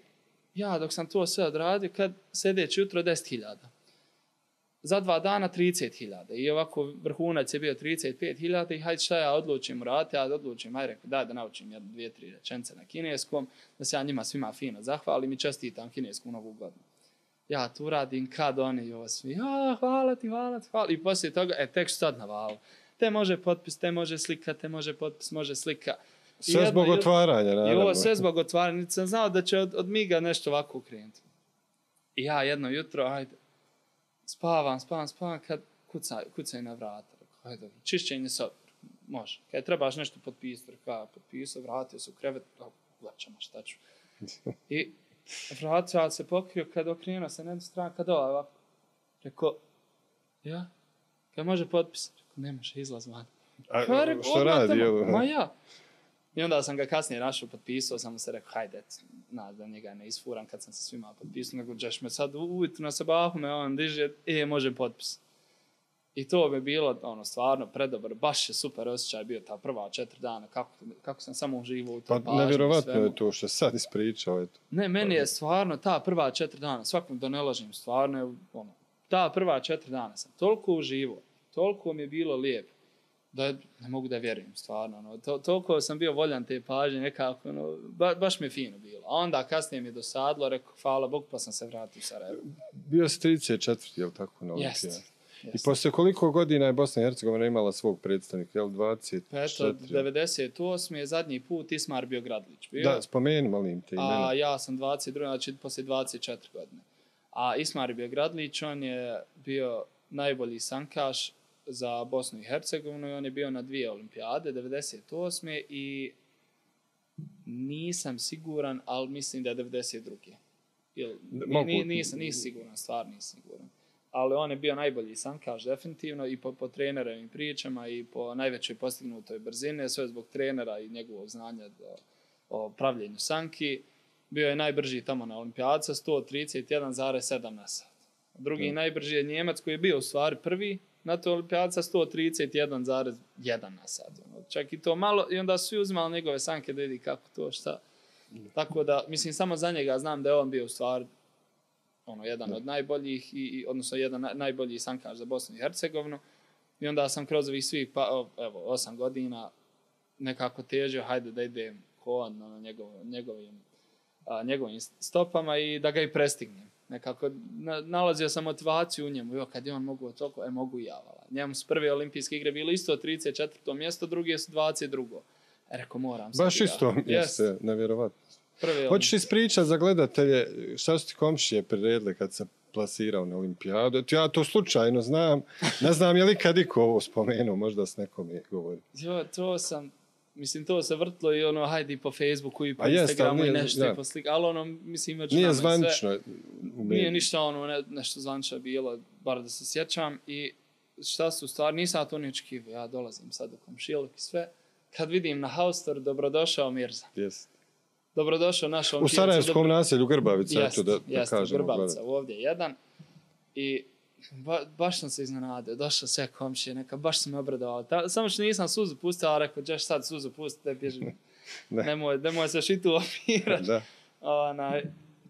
ja, dok sam to sve odradio, kad sljedeće jutro 10.000. Za 2 dana 30.000. I ovako vrhunac je bio 35.000 i hajde šta ja odlučim uraditi, ja odlučim, hajde rekao, daj da naučim 2-3 rečence na kineskom, da se ja njima svima fino zahvalim i čestitam kinesku novu godinu. Ja tu radim kad oni svi, hvala ti. I poslije toga, tek što sad navalo. Te može potpis, te može slika, te može potpis, može slika. Sve zbog otvaranja, naravno. Sve zbog otvaranja. Niti sam znao da će od miga nešto ovako krenuti. I ja jedno jutro, hajde, spavam, kad kucaju na vrata. Hajde, dobro, čišćenje sobe, može. Kad trebaš nešto potpisati, potpisao, vratio se u krevet, uglačamo, šta ću. I vratio se pokrio, kad okrenuo se na jednu stranu, kad ovako. Rekao, kad može potpisati? Rekao, ne može, izlaz van. Što radi? Ma ja. I onda sam ga kasnije našao, potpisao, sam mu se rekao, hajde, da njega ne isfuram kad sam se svima potpisao, nego ćeš me sad ujutro na sabahu me on diže, može potpis. I to bi bilo ono, stvarno predobar, baš je super osjećaj bio ta prva 4 dana, kako sam samo uživao u tom pažnju. Pa nevjerovatno je to što sad ispričao. Eto. Ne, meni je stvarno ta prva 4 dana, svakom da ne lažem, stvarno je, ono, ta prva 4 dana sam toliko uživao, toliko mi je bilo lijepo, da ne mogu da vjerujem, stvarno. Ono, toliko sam bio voljan te pažnje, nekako, ono, baš mi je fino bilo. A onda kasnije mi je dosadilo, rekao, hvala Bog, pa sam se vratio u Sarajevo. Bio si 34, je li tako, na Olimpijadu? Jest. I poslije koliko godina je Bosna i Hercegovina imala svog predstavnika, je li 24? Pa eto, 98. je zadnji put Ismar Biogradlić bio. Da, spomeni, molim te imena. A ja sam 22, znači poslije 24 godine. A Ismar Biogradlić, on je bio najbolji sankaš za Bosnu i Hercegovinu i on je bio na 2 olimpijade, 98. i nisam siguran, ali mislim da je 92. Nisam siguran, stvarno nisam siguran. Ali on je bio najbolji sankaš definitivno i po trenerovim pričama i po najvećoj postignutoj brzine, sve zbog trenera i njegovog znanja o pravljenju sanki. Bio je najbrži tamo na olimpijadca, 131,7 na sat. Drugi najbrži je Njemac koji je bio u stvari prvi na toj olimpijadca, 131,1 na sat. Čak i to malo, i onda su svi uzimali njegove sanke da vidi kako to, šta. Tako da, mislim, samo za njega znam da je on bio u stvari jedan od najboljih, odnosno jedan najbolji sankaš za Bosnu i Hercegovinu. I onda sam kroz ovih svih, 8 godina nekako težio, hajde da idem ko on na njegovim stopama i da ga i prestignem. Nekako nalazio sam motivaciju u njemu. Kad je on mogu toliko, mogu i ja. Njemu su prve olimpijske igre bili isto 34. mjesto, druge su 22. Rekao, moram sad. Baš isto mjesto, nevjerovatno. Hoćeš ispričati za gledatelje šta su ti komšije priredile kad se plasirao na olimpijadu? Ja to slučajno znam. Ne znam je li kad iko ovo spomenuo, možda s nekom je govori. To se vrtlo i hajde po Facebooku i po Instagramu i nešto i po sliku. Ali mislim, već nije zvanično. Nije ništa nešto zvanično bilo, bar da se sjećam. I šta su stvari, nisam to ni očekivao. Ja dolazim sad u komšiluk i sve. Kad vidim na Haustor, dobrodošao Mirza. Yes. Dobrodošao naš u Sarajevskom naselju Grbavica. Jeste, Grbavica, ovdje jedan. I baš sam se iznenadio. Došao sve komšije, baš sam me obradovao. Samo što nisam suzu pustio, ali rekao, ćeš sad suzu pustiti, nemoj se šitu opirati.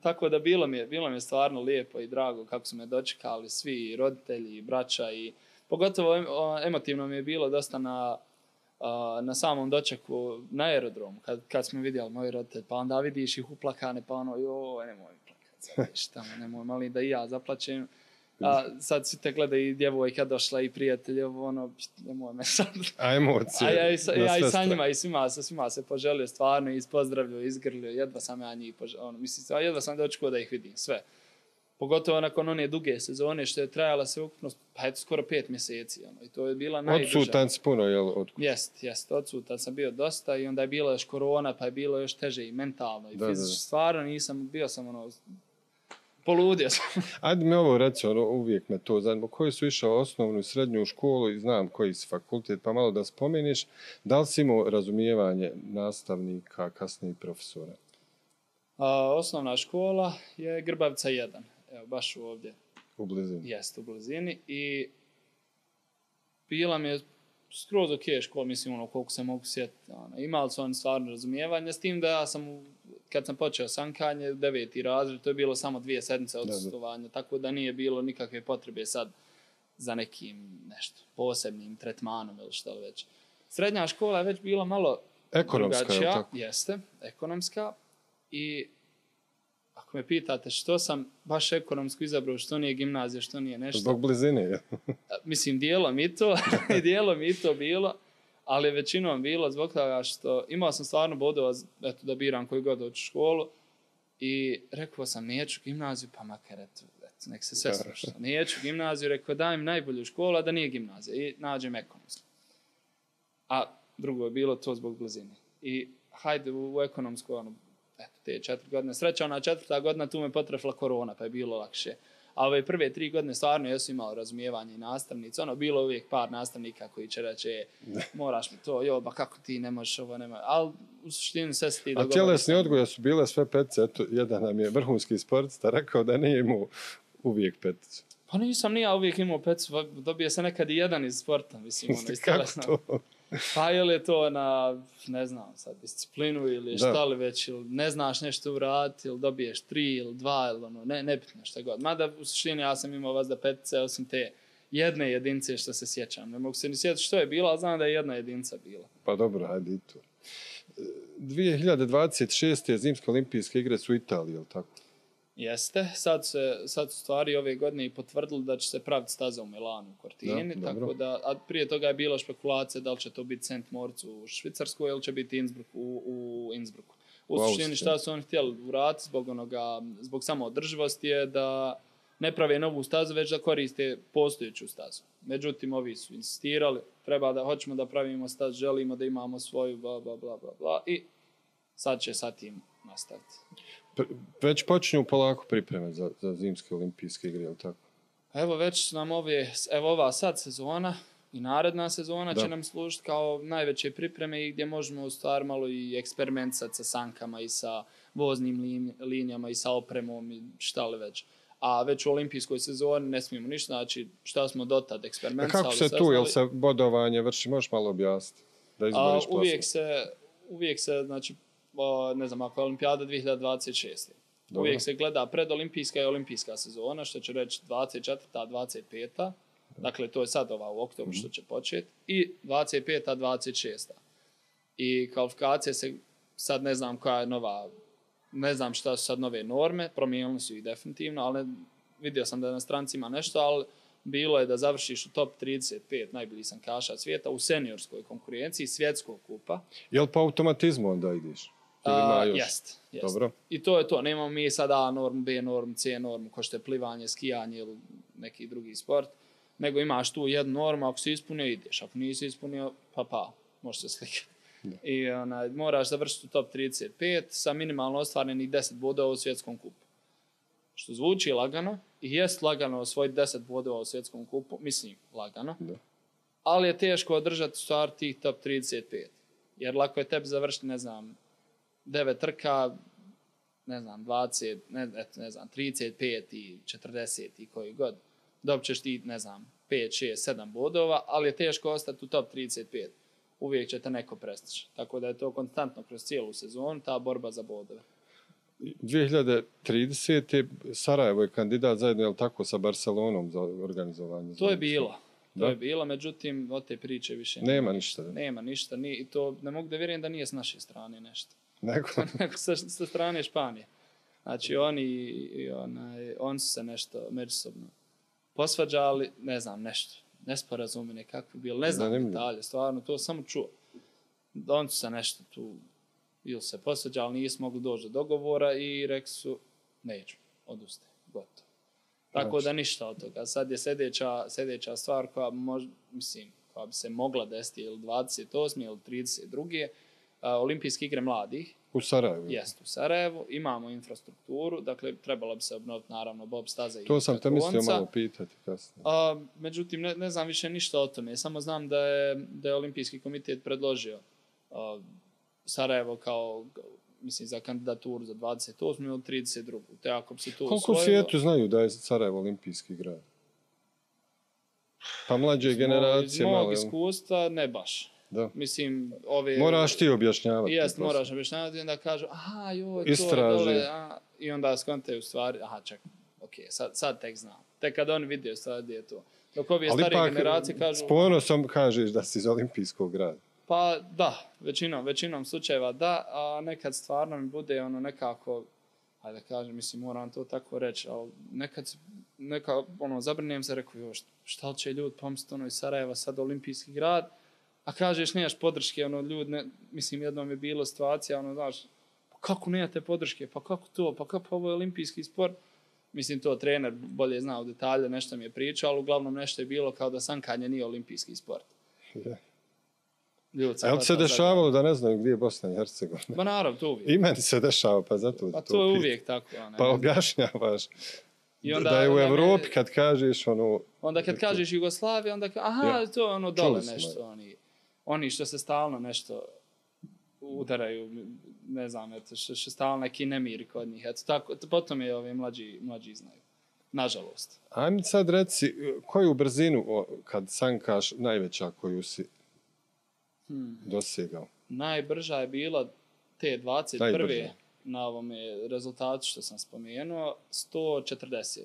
Tako da bilo mi je stvarno lijepo i drago kako su me dočekali svi roditelji, braća i pogotovo emotivno mi je bilo dosta na samom dočeku na aerodromu, kad smo vidjeli moji roditelji, pa onda vidiš ih uplakane, pa nemoj plakati, nemoj mali da i ja zaplačem. A sad svi te gleda i djevojka došla i prijatelji, nemoj me sad. A emocije. Ja i sa njima i svima se poželio stvarno i pozdravljio, izgrlio, jedva sam ja njih poželio. Jedva sam dočekao da ih vidim, sve. Pogotovo nakon one duge sezone što je trajala sve ukupno, skoro 5 mjeseci. I to je bila najduža. Odsutan si puno, jel? Jest, odsutan sam bio dosta i onda je bila još korona, pa je bilo još teže i mentalno i fizički. Stvarno bio sam poludio sam. Ajde mi ovo reći, uvijek me to zanima. Koji su išao osnovnu i srednju školu i znam koji si fakultet, pa malo da spomeniš. Da li si imao razumijevanje nastavnika, kasnije profesora? Osnovna škola je Grbavica 1. Evo, baš ovdje. U blizini. Jeste, u blizini. I bila mi je skroz ok škola, mislim, koliko se mogu sjetiti. Imali su oni stvarno razumijevanje, s tim da ja sam, kad sam počeo sankanje, 9. razred, to je bilo samo 2 sedmice odsustovanja, tako da nije bilo nikakve potrebe sad za nekim posebnim tretmanom ili što već. Srednja škola je već bila malo drugačija. Jeste, ekonomska. I ako me pitate što sam baš ekonomsko izabrao, što nije gimnazija, što nije nešto. Zbog blizine. Mislim, dijelom i to bilo, ali većinom bilo zbog toga što imao sam stvarno bodova da biram koju god hoću školu i rekao sam neću gimnaziju, pa makar nek se sve sluša. Neću gimnaziju, rekao dajem najbolju školu, a da nije gimnazija i nađem ekonomsku. A drugo je bilo to zbog blizine. I hajde u ekonomsku, te 4 godine. Sreća, 4. godina tu me potrefla korona, pa je bilo lakše. A ove prve 3 godine stvarno jesu imao razumijevanje i nastavnici. Bilo uvijek par nastavnika koji će reći, moraš mi to, ba kako ti ne možeš ovo, nema. Ali u suštini sve si ti dogovori. A tjelesni odgoja su bile sve petice. Eto, jedan nam je vrhunski sportista rekao da nije imao uvijek peticu. Pa nisam ni ja uvijek imao pecu, dobije se nekad i jedan iz sporta, mislim, iz telesnog. Pa ili je to na, ne znam, sad disciplinu ili šta li već, ili ne znaš nešto uraditi, ili dobiješ 3 ili 2, ili ono, nebitno šta god. Mada u suštini ja sam imao vas da petice, osim te jedne jedince što se sjećam. Ne mogu se ni sjetiti što je bila, ali znam da je jedna jedinca bila. Pa dobro, hajde i to. 2026. zimske olimpijske igre su u Italiji, je li tako? Jeste. Sad su stvari ove godine i potvrdili da će se praviti staza u Milanu, u Cortini. Tako da, a prije toga je bila špekulacija da li će to biti St. Moritz u Švicarskoj ili će biti Innsbruck u Innsbrucku. U suštini šta su oni htjeli uraditi zbog samoodrživosti je da ne prave novu stazu, već da koriste postojeću stazu. Međutim, ovi su insistirali, hoćemo da pravimo staz, želimo da imamo svoju, bla, bla, bla, bla, bla, i sad će sa tim nastaviti. Već počinju polako pripreme za zimske olimpijske igre, je li tako? Evo već nam ova sad sezona i naredna sezona će nam služiti kao najveće pripreme i gdje možemo u stvari malo i eksperimentisati sa sankama i sa voznim linijama i sa opremom i šta li već. A već u olimpijskoj sezoni ne smijemo ništa, znači šta smo dotad eksperimentisali. Kako se tu, jel se bodovanje vrši, možeš malo objasniti? Da izboriš uvijek se, znači, ne znam, ako je olimpijada 2026. Dobro. Uvijek se gleda predolimpijska i olimpijska sezona, što će reći 24. 25. Dakle, to je sad ova u oktobru što će početi. I 25. 26. I kvalifikacije se, sad ne znam koja je nova, ne znam šta su sad nove norme, promijenili su ih definitivno, ali vidio sam da na stranci ima nešto, ali bilo je da završiš u top 35 najboljih sankaša svijeta u seniorskoj konkurenciji svjetskog kupa. Jel po automatizmu onda ideš? Jest. Dobro. I to je to. Nemamo mi sad A normu, B normu, C normu, ko što je plivanje, skijanje ili neki drugi sport. Nego imaš tu jednu normu, ako si ispunio, ideš. Ako nisi ispunio, pa, možeš se slikati. I moraš završiti u top 35 sa minimalno ostvarenih 10 bodova u svjetskom kupu. Što zvuči lagano i jest lagano osvojiti 10 bodova u svjetskom kupu, mislim lagano, ali je teško održati stvar tih top 35. Jer lako je tebi završiti, ne znam, 9 trka, ne znam, 20, ne znam, 35 i 40 i koji god. Dobćeš ti, ne znam, 5, 6, 7 bodova, ali je teško ostati u top 35. Uvijek će te neko prestići. Tako da je to konstantno kroz cijelu sezonu, ta borba za bodove. 2030. Sarajevo je kandidat zajedno, je li tako, sa Barcelonom za organizovanje? To je bilo. To je bilo, međutim, od te priče više nema ništa. Nema ništa. I to ne mogu da vjerujem da nije s naše strane nešto. Nego sa strane Španije. Znači, oni su se nešto međusobno posvađali, ne znam, nešto. Nesporazumi nekakvi bili, ne znam detalje, stvarno, to samo čuo. Oni su se nešto tu ili se posvađali, nisu mogli doći do dogovora i rekli su, neću, odustaje, gotovo. Tako da ništa od toga. Sad je sljedeća stvar koja bi se mogla desiti ili 28. ili 32. Olimpijske igre mladih. U Sarajevu. Jest, u Sarajevu. Imamo infrastrukturu, dakle trebalo bi se obnoviti naravno bob staza i to sam te mislio malo pitati kasnije. Međutim, ne znam više ništa o tome. Samo znam da je Olimpijski komitet predložio Sarajevo kao, mislim, za kandidaturu za 28. ili 32. Te ako bi se to koliko u svijetu znaju da je Sarajevo olimpijski grad? Pa mlađe generacije malo. Iz mog iskustva ne baš. Da. Mislim, moraš ti objašnjavati. Jest, moraš objašnjavati i onda kažu, aha, joj, to istraži. Je dole, i onda skontaju stvari, aha, čekaj, sad tek znam. Tek kad oni vide stvari gdje je to. Dok ovi starije generacije kažu... S ponosom kažeš da si iz olimpijskog grada. Pa da, većinom slučajeva da, a nekad stvarno mi bude nekako, hajde kažem, mislim, moram to tako reći, ali nekad zabrinem se, rekao, joj, šta će ljudi pomisliti iz Sarajeva, sad olimpijski grad, a kažeš nemaš podrške, ljudi, mislim, jednom je bilo situacija, znaš, pa kako nemate podrške, pa kako to, pa kako ovo je olimpijski sport, mislim, to trener bolje zna u detalje, nešto mi je pričao, ali uglavnom nešto je bilo kao da sankanje nije olimpijski sport. Yeah. A je li se dešavalo da ne znaju gdje je Bosna i Hercegovina? Ba naravno, to uvijek. I meni se dešava, pa zato pa to je uvijek tako. Pa objašnjavaš da je u Evropi kad kažeš onda kad kažeš Jugoslavija, onda aha, to je dole nešto. Oni što se stalno nešto udaraju, ne znam, što stalno neki nemiri kod njih. Eto, tako, potom je ovi mlađi znaju. nažalost. Ajme sad reci, koju brzinu kad sankaš najveća koju si dosegao? Najbrža je bila te 21. na ovome rezultatu što sam spomenuo, 140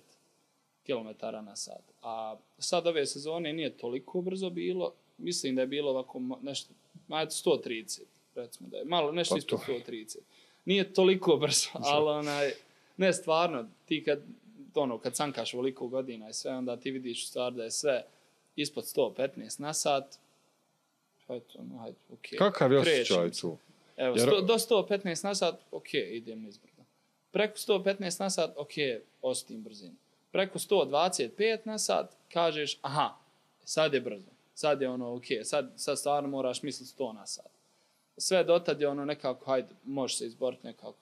km/h. A sad ove sezone nije toliko brzo bilo, mislim da je bilo ovako nešto, 130, recimo da je malo nešto ispod 130. Nije toliko brzo, ali ne stvarno, ti kad sankaš ovoliko godina i sve, onda ti vidiš u stvari da je sve ispod 115 na sat. Hajde, okay. Kakav je osjećaj tu? Evo, do 115 na sat, ok, idem nizbrdo. Preko 115 na sat, ok, osjetim brzinu. Preko 125 na sat, kažeš, aha, sad je brzo. Sad je ok, sad stvarno moraš misliti 100 na sat. Sve dotad je nekako, hajde, možeš se izboriti nekako.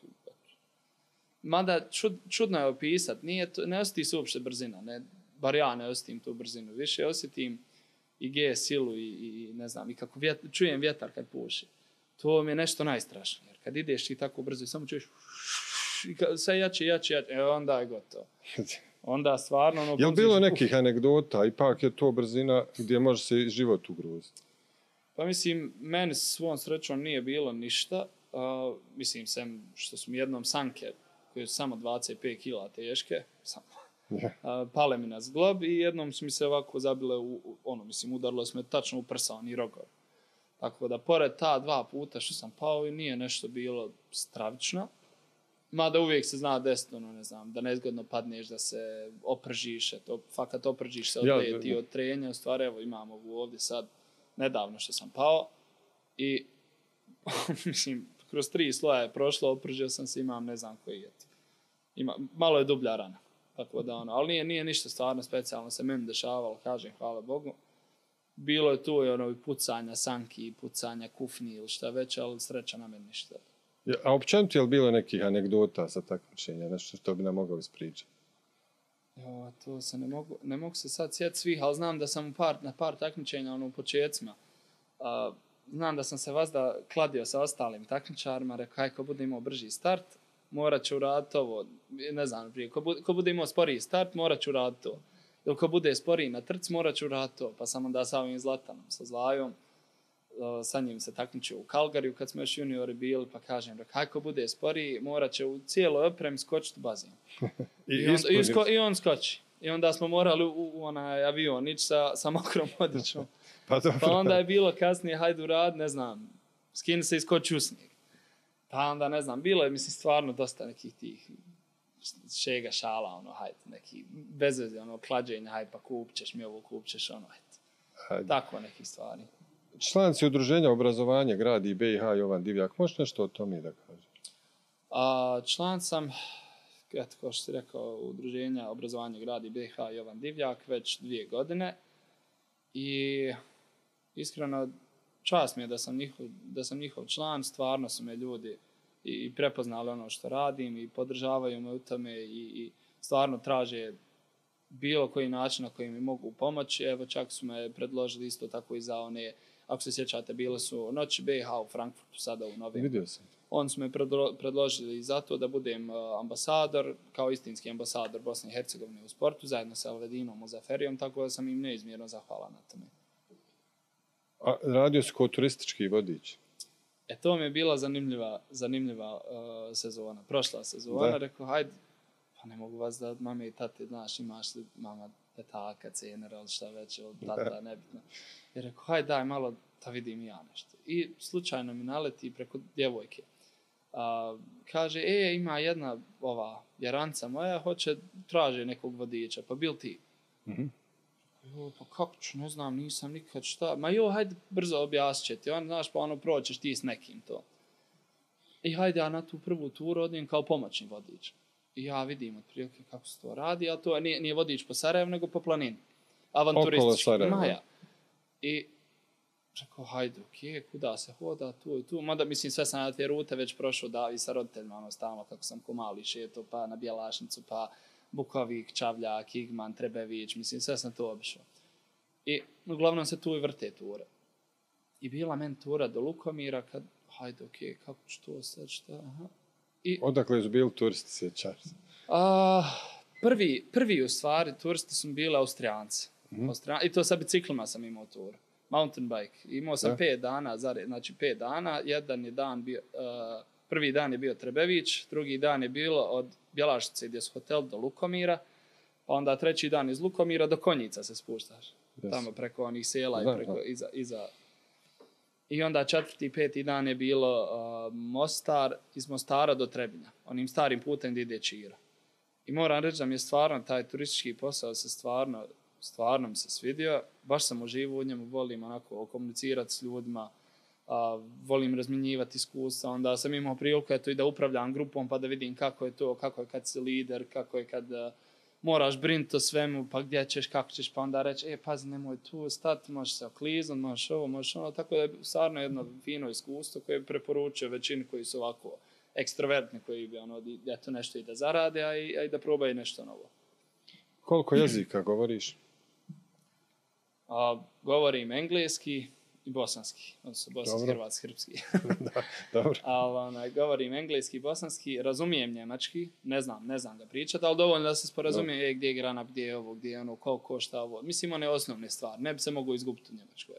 Mada čudno je opisat, ne osjeti se uopšte brzina, bar ja ne osjetim tu brzinu. Više osjetim i G silu i ne znam, i kako čujem vjetar kad puši. To mi je nešto najstrašnije. Jer kad ideš i tako brzo i samo čuješ sve jače, onda je gotovo. Onda stvarno... Je li bilo nekih anegdota? Ipak je to brzina gdje može se život ugroziti. Pa mislim, meni svom srećom nije bilo ništa. Mislim, sem što su mi jednom sanke, koje su samo 25 kila teške, pale mi na zglob i jednom su mi se ovako zabile, udarilo se me tačno u prsa, oni rogor. Tako da, pored ta 2 puta što sam pao, i nije nešto bilo stravično. Mada uvijek se zna desiti, ne znam, da nezgodno padneš, da se opržiš, fakat opržiš se od leti, od trenja. U stvari, evo, imam ovu ovdje sad, nedavno što sam pao. I, mislim, kroz 3 sloja je prošlo, opržio sam se, imam ne znam koji je. Malo je dublja rana. Tako da, ali nije ništa stvarno specijalno se meni dešavalo, kažem, hvala Bogu. Bilo je tu i pucanja sanki, pucanja kufni ili šta već, ali sreća na meni ništa. A općenito je li bilo nekih anegdota sa takmičenja, nešto što bi nam mogao ispričati? To se ne mogu se sad sjetiti svih, ali znam da sam na par takmičenja u početcima. Znam da sam se vazda kladio sa ostalim takmičarima, rekao, ako bude imao brži start, morat ću uraditi ovo, ne znam, prije, ko bude imao sporiji start, morat ću uraditi to. Ili ko bude sporiji na trci, morat ću uraditi to. Pa sam onda sa ovim Zlatanom, sa Zlajom, sa njim se takmičio u Calgaryu kad smo još juniori bili, pa kažem, kako bude sporiji, morat će u cijeloj opremi skočiti u bazen. I on skoči. I onda smo morali u onaj avion ići sa mokrom odjećom. Pa onda je bilo kasnije, hajde urad, ne znam, skini se i skoči u snijeg. Pa onda, ne znam, bilo je, mislim, stvarno dosta nekih tih šega šala, hajde, neki bezveze, klađenja, hajde, pa kupćeš mi ovo, kupćeš hajde. Tako nekih stvari. Član si udruženja obrazovanja gradi BiH Jovan Divjak. Možeš nešto o tome da kažeš? Član sam, kao što si rekao, udruženja obrazovanja gradi BiH Jovan Divjak već 2 godine. I iskreno, čast mi je da sam njihov član. Stvarno su me ljudi i prepoznali ono što radim i podržavaju me u tome i stvarno traže bilo koji način na koji mi mogu pomoći. Evo, čak su me predložili isto tako i za one, ako se sjećate, bile su Noći BiH u Frankfurtu sada u novembru. Vidio sam. Oni su me predložili za to da budem ambasador, kao istinski ambasador Bosne i Hercegovine u sportu, zajedno sa Elvedinom Muzaferijom, tako da sam im neizmjerno zahvalan na tome. A radio si kao turistički vodič? To mi je bila zanimljiva sezona, prošla sezona. Rekao, hajde, pa ne mogu vas da mame i tate, znaš, imaš li mama petaka, cenera ili šta već, ili tata, nebitno. I rekao, hajde daj malo da vidim ja nešto. I slučajno mi naleti preko djevojke. Kaže, ima jedna jaranca moja, traže nekog vodiča, pa bil ti? Pa kako ću, ne znam, nisam nikad šta. Ma hajde brzo objasnit će ti, znaš, pa proćeš ti s nekim to. I hajde ja na tu prvu turu odim kao pomoćni vodič. I ja vidim otprilike kako se to radi, a to nije vodič po Sarajevu, nego po planini. Avanturistički. Maja. I rekao, hajde, kuda se hoda, tu i tu. Mada, mislim, sve sam na te rute već prošao da i sa roditeljima, stalno kako sam ko mali šeto, pa na Bjelašnicu, pa Bukovik, Čavljak, Igman, Trebević, mislim, sve sam to obišao. I uglavnom se tu i vrte ture. I bila meni tura do Lukomira, kad, hajde, kako ću to sad, šta, aha. Odakle su bili turisti, sjećaš se? prvi u stvari turisti su bili Austrijanci. I to sa biciklima sam imao tur. Mountain bike. Imao sam 5 dana, znači 5 dana. Jedan je dan bio, prvi dan je bio Trebević, drugi dan je bilo od Bjelašice gdje su hotel do Lukomira, pa onda treći dan iz Lukomira do Konjica se spuštaš. Tamo preko onih sela i preko iza. I onda 4. i 5. dan je bilo Mostar, iz Mostara do Trebinja, onim starim putem gdje ide Čira. I moram reći da mi je stvarno taj turistički posao se stvarno mi se svidio. Baš sam uživao u njemu, volim onako komunicirati s ljudima, volim razmjenjivati iskustva. Onda sam imao priliku i da upravljam grupom pa da vidim kako je to, kako je kad si lider, kako je kad moraš brinuti o svemu, pa gdje ćeš, kako ćeš, pa onda reći, pazi, nemoj tu stati, možeš se okliznut, možeš ovo, možeš ono. Tako da je stvarno jedno fino iskustvo koje preporučujem većini koji su ovako ekstrovertni, koji bi to nešto i da zarade, a i da probaju nešto novo. Koliko jezika govoriš? Govorim engleski i bosanski, odnosno bosanski, hrvatski, srpski. Dobro. Govorim engleski i bosanski, razumijem njemački, ne znam ga pričati, ali dovoljno da se sporazumijem gdje je granat, gdje je ovo, gdje je ono, koliko košta ovo. Mislim, one osnovne stvari, ne bi se mogao izgubiti u njemačkoj.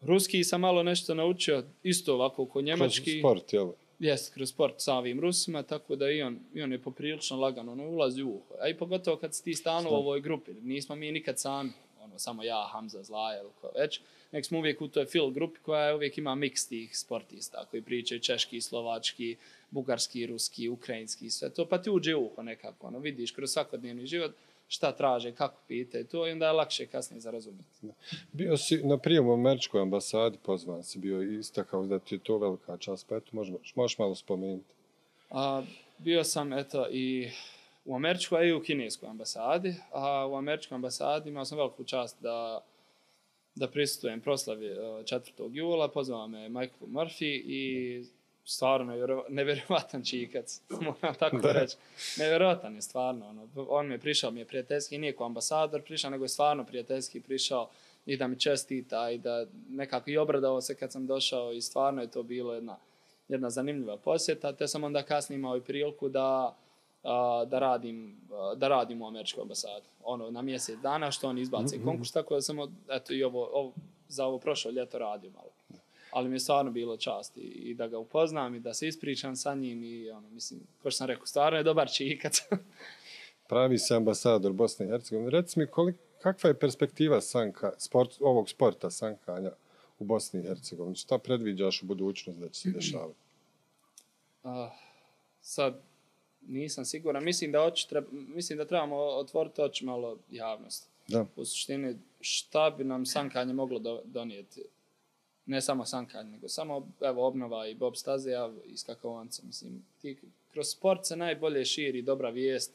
Ruski sam malo nešto naučio, isto ovako ko njemački. Kroz sport, jel? Jest, kroz sport sa ovim Rusima, tako da i on je poprilično lagano, ono ulazi u uho. A i pogotovo kad si ti stalno u ovoj grupi, nismo mi nikad sami, samo ja, Hamza, Zlaja ili ko već, nek smo uvijek u toj fil grupi koja uvijek ima miks tih sportista koji pričaju češki, slovački, bugarski, ruski, ukrajinski, sve to, pa ti uđe u uho nekako, vidiš kroz svakodnevni život šta traže, kako pitaju to i onda je lakše kasnije za razumjeti. Bio si na prijemu u američkoj ambasadi, pozvan si bio i istakao da ti je to velika čast, pa eto možeš malo spomenuti. Bio sam i u američkoj i u kineskoj ambasadi, a u američkoj ambasadi imao sam veliku čast da prisustvujem proslavi 4. jula, pozvao me Michael Murphy i stvarno nevjerovatan čikac, moram tako reći. Nevjerovatan je stvarno. On mi je prišao, mi je prijateljski, nije ko ambasador prišao, nego je stvarno prijateljski prišao i da mi čestita i da nekako i obradao se kad sam došao i stvarno je to bilo jedna zanimljiva posjeta, te sam onda kasnije imao i priliku da radim u američkoj ambasadi. Na mjesec dana što oni izbace konkurs, tako da sam i za ovo prošlo ljeto radio malo. Ali mi je stvarno bilo čast i da ga upoznam i da se ispričam sa njim i mislim, kao što sam rekao, stvarno je dobar čikac. Pravi se ambasador Bosne i Hercegovine. Reci mi, kakva je perspektiva ovog sporta sankanja u Bosni i Hercegovini? Šta predviđaš u budućnosti da će se dešavati? Sad nisam siguran. Mislim da trebamo otvoriti oči malo javnosti. Da. U suštini, šta bi nam sankanje moglo donijeti? Ne samo sankanje, nego samo obnova i bob staze, i skakavance. Mislim, kroz sport se najbolje širi dobra vijest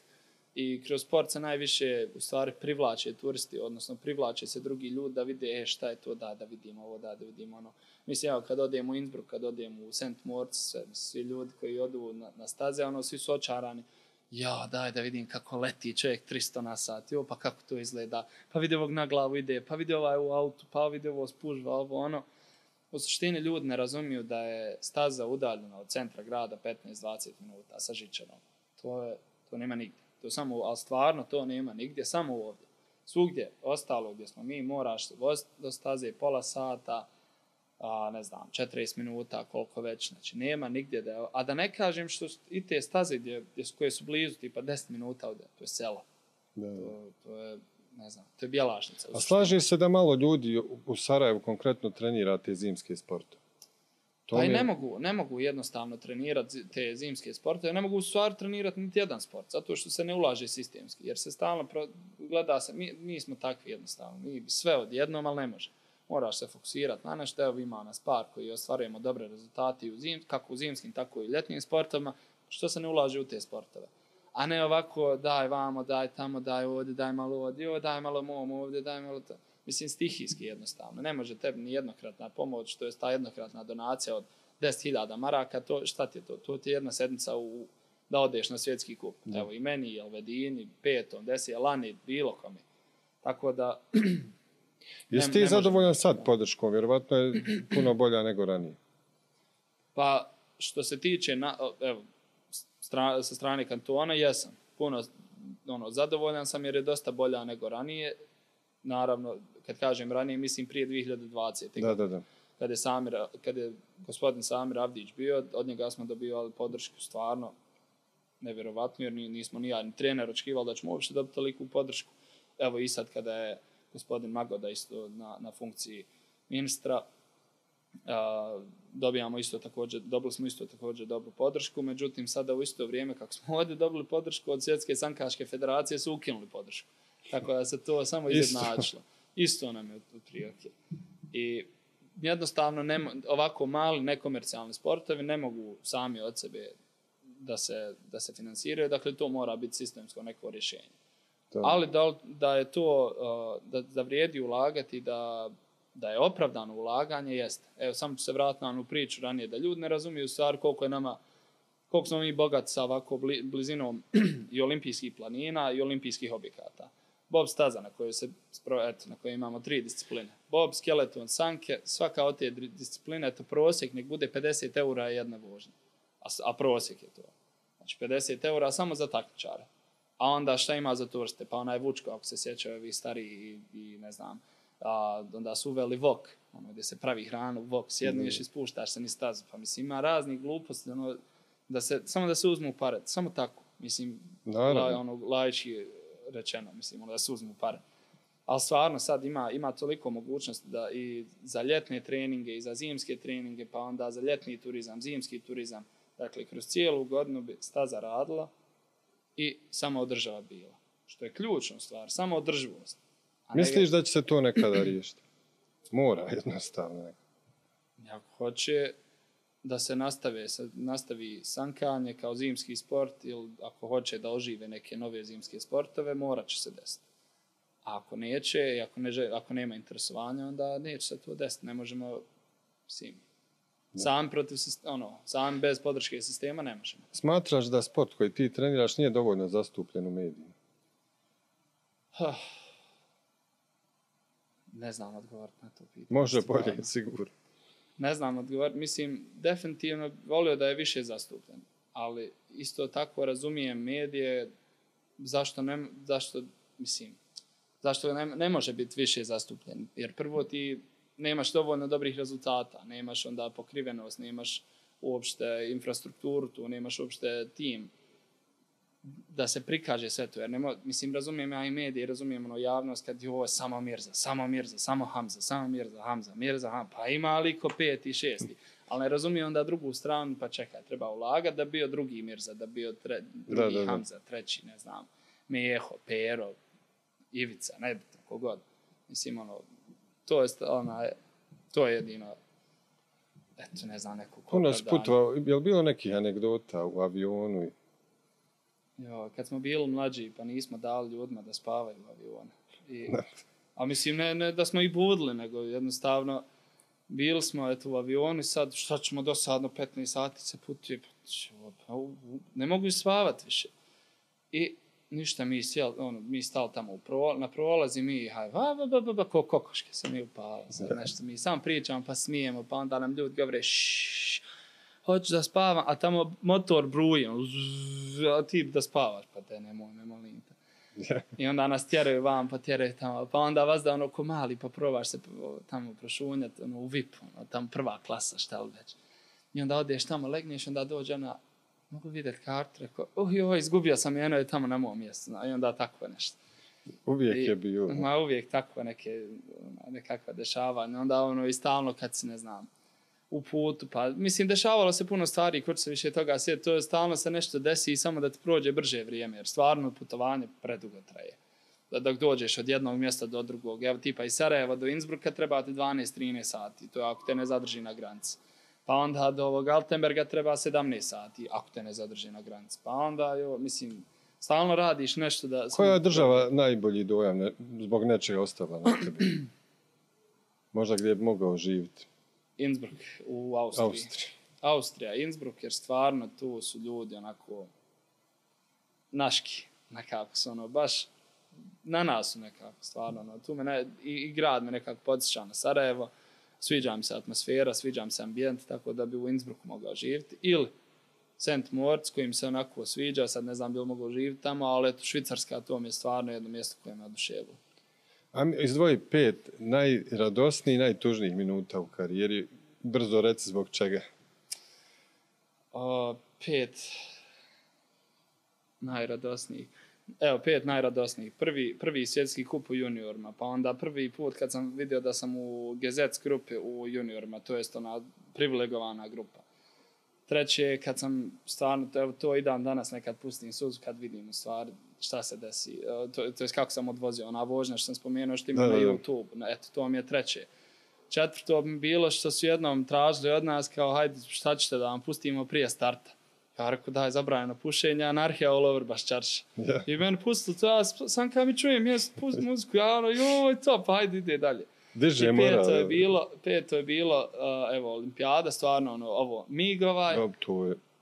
i kroz sport se najviše u stvari privlače turisti, odnosno privlače se drugi ljudi da vide šta je to, da vidimo ovo, da vidimo ono. Mislim, kad odemo u Innsbruck, kad odemo u St. Moritz, svi ljudi koji odu na staze, svi su očarani. Daj da vidim kako leti čovjek 300 na sat, pa kako to izgleda, pa vidi ovog na glavu ide, pa vidi ovaj u autu, pa vidi ovo spužva, ovo ono. U suštini ljudi ne razumiju da je staza udaljena od centra grada 15-20 minuta sa žičarom. To nema nigdje. Ali stvarno to nema nigdje, samo ovdje. Svugdje, ostalo gdje smo mi, moraš voziti do staze pola sata, 40 minuta, koliko već. Znači, nema nigdje a da ne kažem što i te staze koje su blizu, tipa 10 minuta ovdje, to je selo. To je, ne znam, to je Bjelašnica. A slaži se da malo ljudi u Sarajevu konkretno trenira te zimske sporte? Pa i ne mogu jednostavno trenirati te zimske sporte, ne mogu u stvari trenirati niti jedan sport, zato što se ne ulaže sistemski, jer se stalno gleda se, mi smo takvi jednostavno, mi sve odjednom, ali ne može. Moraš se fokusirati na nešto, ima nas par koji ostvarujemo dobre rezultate kako u zimskim, tako i ljetnim sportovima, što se ne ulaže u te sportove. A ne ovako, daj vamo, daj tamo, daj ovdje, daj malo ovdje, daj malo mom ovdje, daj malo to. Mislim, stihijski jednostavno. Ne može tebi ni jednokratna pomoć, to je ta jednokratna donacija od 10.000 maraka, šta ti je to? To ti je jedna sedmica da odeš na svjetski kup. Evo i meni, i Elvedini, Petom, Desi, Lani, bilo kome. Tako da... Jesi ti zadovoljan sad podrškom? Vjerovatno je puno bolja nego ranije. Pa, što se tiče sa strane kantona, jesam. zadovoljan sam jer je dosta bolja nego ranije. Naravno, kad kažem ranije, mislim prije 2020. Da. Kad je gospodin Samir Avdić bio, od njega smo dobivali podršku stvarno nevjerovatno, jer nismo ni ja ni trener očekivali da ćemo uopšte dobiti toliku podršku. Evo i sad kada je gospodin Magoda isto na funkciji ministra, dobili smo isto također dobru podršku, međutim sada u isto vrijeme kako smo ovdje dobili podršku od Svjetske sankaške federacije su ukinuli podršku. Tako da se to samo izjednačilo. Isto nam je otprilike. I jednostavno ovako mali nekomercijalni sportovi ne mogu sami od sebe da se finansiraju, dakle to mora biti sistemsko neko rješenje. Ali da je to, da vrijedi ulagati, da je opravdano ulaganje, jeste. Evo, samo ću se vratiti na onu priču ranije, da ljudi ne razumiju stvar koliko smo mi bogati sa ovako blizinom i olimpijskih planina i olimpijskih objekata. Bob staza na kojoj imamo 3 discipline. Bob, skeleton, sanke, svaka od te discipline, to prosjek, nek bude 50 eura jedna vožnja. A prosjek je to. Znači 50 eura samo za takmičare. A onda šta ima za turiste? Pa onaj Vučko, ako se sjećaju ovi stariji i ne znam, onda su uveli vok, gdje se pravi hranu, vok, sjedniš i spuštaš se ni stazu. Pa mislim, ima raznih gluposti, samo da se uzmu pare, samo tako. Mislim, laički rečeno, mislim, da se uzmu pare. Ali stvarno sad ima toliko mogućnosti da i za ljetne treninge i za zimske treninge, pa onda za ljetni turizam, zimski turizam. Dakle, kroz cijelu godinu bi staza radila i samo održava bila. Što je ključna stvar, samo održivost. Misliš da će se to nekada riješiti? Mora jednostavno. Ako hoće da se nastavi sankanje kao zimski sport ili ako hoće da ožive neke nove zimske sportove, morat će se desiti. A ako neće i ako nema interesovanja, onda neće se to desiti. Ne možemo sam bez podrške sistema ne možemo. Smatraš da sport koji ti treniraš nije dovoljno zastupljen u medijima? Ne znam odgovoriti na to pitanje. Može bolje, sigurno. Ne znam odgovoriti. Mislim, definitivno volio da je više zastupljen. Ali isto tako razumijem medije zašto ne može biti više zastupljen. Jer prvo ti nemaš dovoljno dobrih rezultata, nemaš onda pokrivenost, nemaš uopšte infrastrukturu tu, nemaš uopšte tim da se prikaže sve to. Jer razumijem ja i medije, razumijem javnost kad je ovo samo Mirza, samo Hamza, Mirza, pa ima liko 5. i 6. Ali ne razumijem onda drugu stranu, pa čekaj, treba ulagati da bio drugi Mirza, da bio drugi Hamza, treći, ne znam, Meho, Pero, Ivica, nebitno, kogod. Mislim, to je jedino, eto, ne znam, neko koga dana. Je li bilo nekih anegdota u avionu? Kad smo bili mlađi, pa nismo dali ljudima da spavaju u avionu. A mislim, ne da smo ih budili, nego jednostavno bili smo u avionu i sad šta ćemo dosadno 15 sati se putuje, ne mogu spavati više. I ništa, mi stali tamo na prolazi, mi ko kokoške se mi upali. Nešto mi sam pričamo pa smijemo, pa onda nam ljudi govore hoću da spavam, a tamo motor bruje, a ti da spavaš, pa te nemoj linta. I onda nas tjeraju vam, pa tjeraju tamo, pa onda vas da ko mali, pa probaš se tamo prošunjati u VIP, tamo prva klasa, šta li već. I onda odeš tamo, legneš, onda dođe ona, mogu vidjeti kartu, rekao, izgubio sam jedno je tamo na mom mjestu, i onda tako nešto. Uvijek je bio. Uvijek tako nekakva dešavanja, onda i stalno kad si, ne znam, u putu, pa mislim dešavalo se puno stvari, ko će se više toga sjeti, to je stalno se nešto desi i samo da ti prođe brže vrijeme, jer stvarno putovanje predugo traje. Dok dođeš od jednog mjesta do drugog, evo tipa iz Sarajeva do Innsbrucka treba ti 12-13 sati, to je ako te ne zadrži na granici. Pa onda do ovog Altenberga treba 17 sati, ako te ne zadrži na granici. Pa onda, mislim, stalno radiš nešto da... Koja je država najbolji dojam zbog nečega ostala na tebi? Možda gdje je mogao živjeti? Innsbruck u Austrija, Innsbruck, jer stvarno tu su ljudi onako naški, nekako su baš na nas su nekako stvarno. Tu i grad me nekako podsjeća na Sarajevo, sviđa mi se atmosfera, sviđa mi se ambijent, tako da bi u Innsbrucku mogao živjeti. Ili St. Moritz koji mi se onako sviđa, sad ne znam bi li mogu živjeti tamo, ali eto, Švicarska to mi je stvarno jedno mjesto koje me oduševilo. A izdvoji 5 najradosnijih, najtužnijih minuta u karijeri. Brzo reci zbog čega. 5 najradosnijih. Evo, 5 najradosnijih. Prvi svjetski kup u juniorima, pa onda prvi put kad sam vidio da sam u Gezets grupi u juniorima, to jest ona privilegovana grupa. Treće, kad sam stvarno, to i dan danas nekad pustim suzu kad vidim u stvari šta se desi. To jest kako sam odvozio, ona vožnja što sam spomenuo što ima na YouTube. Eto, to mi je treće. Četvrto bi bilo što su jednom tražili od nas kao hajde šta ćete da vam pustimo prije starta. Ja rekao daj zabranjeno pušenje, anarhija all over Baščarša. Yeah. I meni pustili to, ja sam kad mi čujem pusti muziku, ja ono joj to, pa hajde ide dalje. Diže Peto je bilo evo, olimpijada, stvarno ovo MIG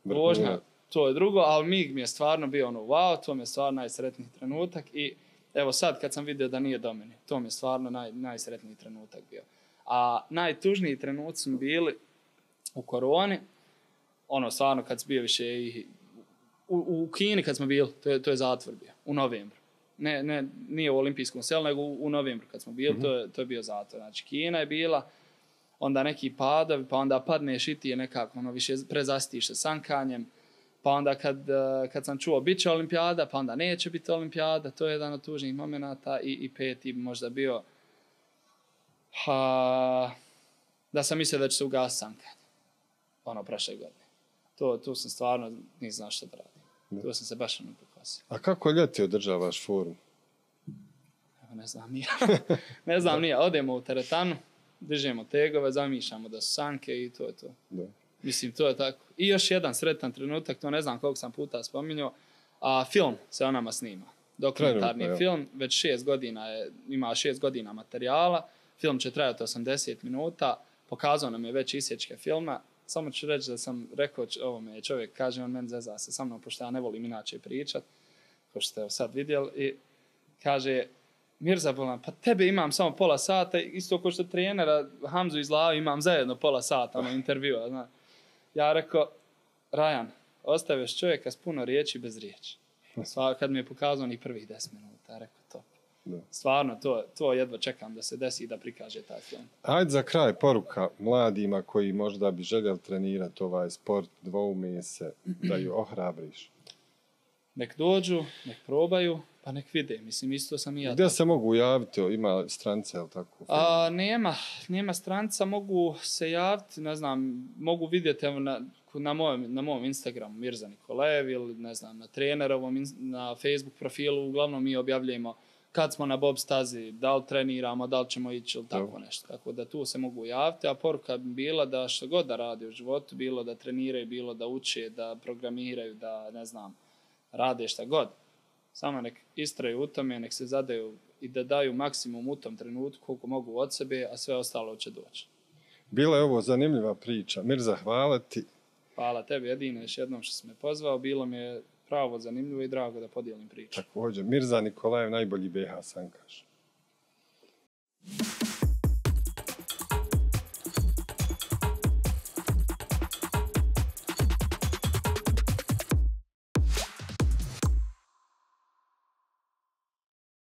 vožnja, to je drugo, ali MIG mi je stvarno bio wow, to mi je stvarno najsretniji trenutak i evo sad kad sam vidio da nije do mene, to mi je stvarno najsretniji trenutak bio. A najtužniji trenutak su bili u koroni, stvarno kad sam bio više i u Kini kad smo bili, to je zatvor bio, u novembru. Nije u olimpijskom selu, nego u novembru kad smo bili, to je bio zatvor. Znači, Kina je bila, onda neki padovi, pa onda padneš i ti je nekako više prezastiš se sankanjem, pa onda kad sam čuo bit će olimpijada, pa onda neće biti olimpijada, to je jedan od tužnih momenata i peti možda bio da sam mislio da će se ugasiti sankanje, prošle godine. Tu sam stvarno nisam znao što da radim. Tu sam se baš pokosio. A kako ljeti održavaš formu? Ne znam nije. Ne znam nije. Odemo u teretanu, dižemo tegove, zamišljamo da su sanke i to je to. Da. Mislim, to je tako. I još jedan sretan trenutak, to ne znam koliko sam puta spominjao, a film se o nama snima. Dokumentarni film, već 6 godina ima 6 godina materijala. Film će trajati 80 minuta. Pokazao nam je već isječke filma. Samo ću reći da sam rekao ovome čovjek, kaže on meni zeza se sa mnom, pošto ja ne volim inače pričat, kao što ste sad vidjeli, i kaže, Mirza Bolan, pa tebe imam samo pola sata, isto kao što trenera Hamzu iz Lavi imam zajedno pola sata, intervjua, zna. Ja rekao, Rajan, ostaviš čovjeka s puno riječi bez riječi. Kad mi je pokazao ni prvih 10 minuta, rekao to. Da. Stvarno, to jedva čekam da se desi i da prikaže taj film. Ajde za kraj poruka mladima koji možda bi željeli trenirati ovaj sport, dvoume se, da ju ohrabriš. Nek dođu, nek probaju, pa nek vide. Mislim, isto sam i ja. Gdje se mogu javiti? Ima strance, ili tako? Nema stranca, mogu se javiti, ne znam, mogu vidjeti na mom Instagramu Mirza Nikolajev ili ne znam, na trenerovom, na Facebook profilu, uglavnom mi objavljujemo kad smo na bob stazi, da li treniramo, da li ćemo ići ili tako nešto. Tako da tu se mogu javiti, a poruka bi bila da što god da radi u životu, bilo da treniraju, bilo da uče, da programiraju, da ne znam, rade šta god. Samo nek istraju u tome, nek se zadaju i da daju maksimum u tom trenutku koliko mogu od sebe, a sve ostalo će doći. Bila je ovo zanimljiva priča. Mirza, hvala ti. Hvala tebi jedino još jednom što si me pozvao. Bilo mi je pravo zanimljivo i drago da podijelim priču. Također, Mirza Nikolajev, najbolji BH sankaš.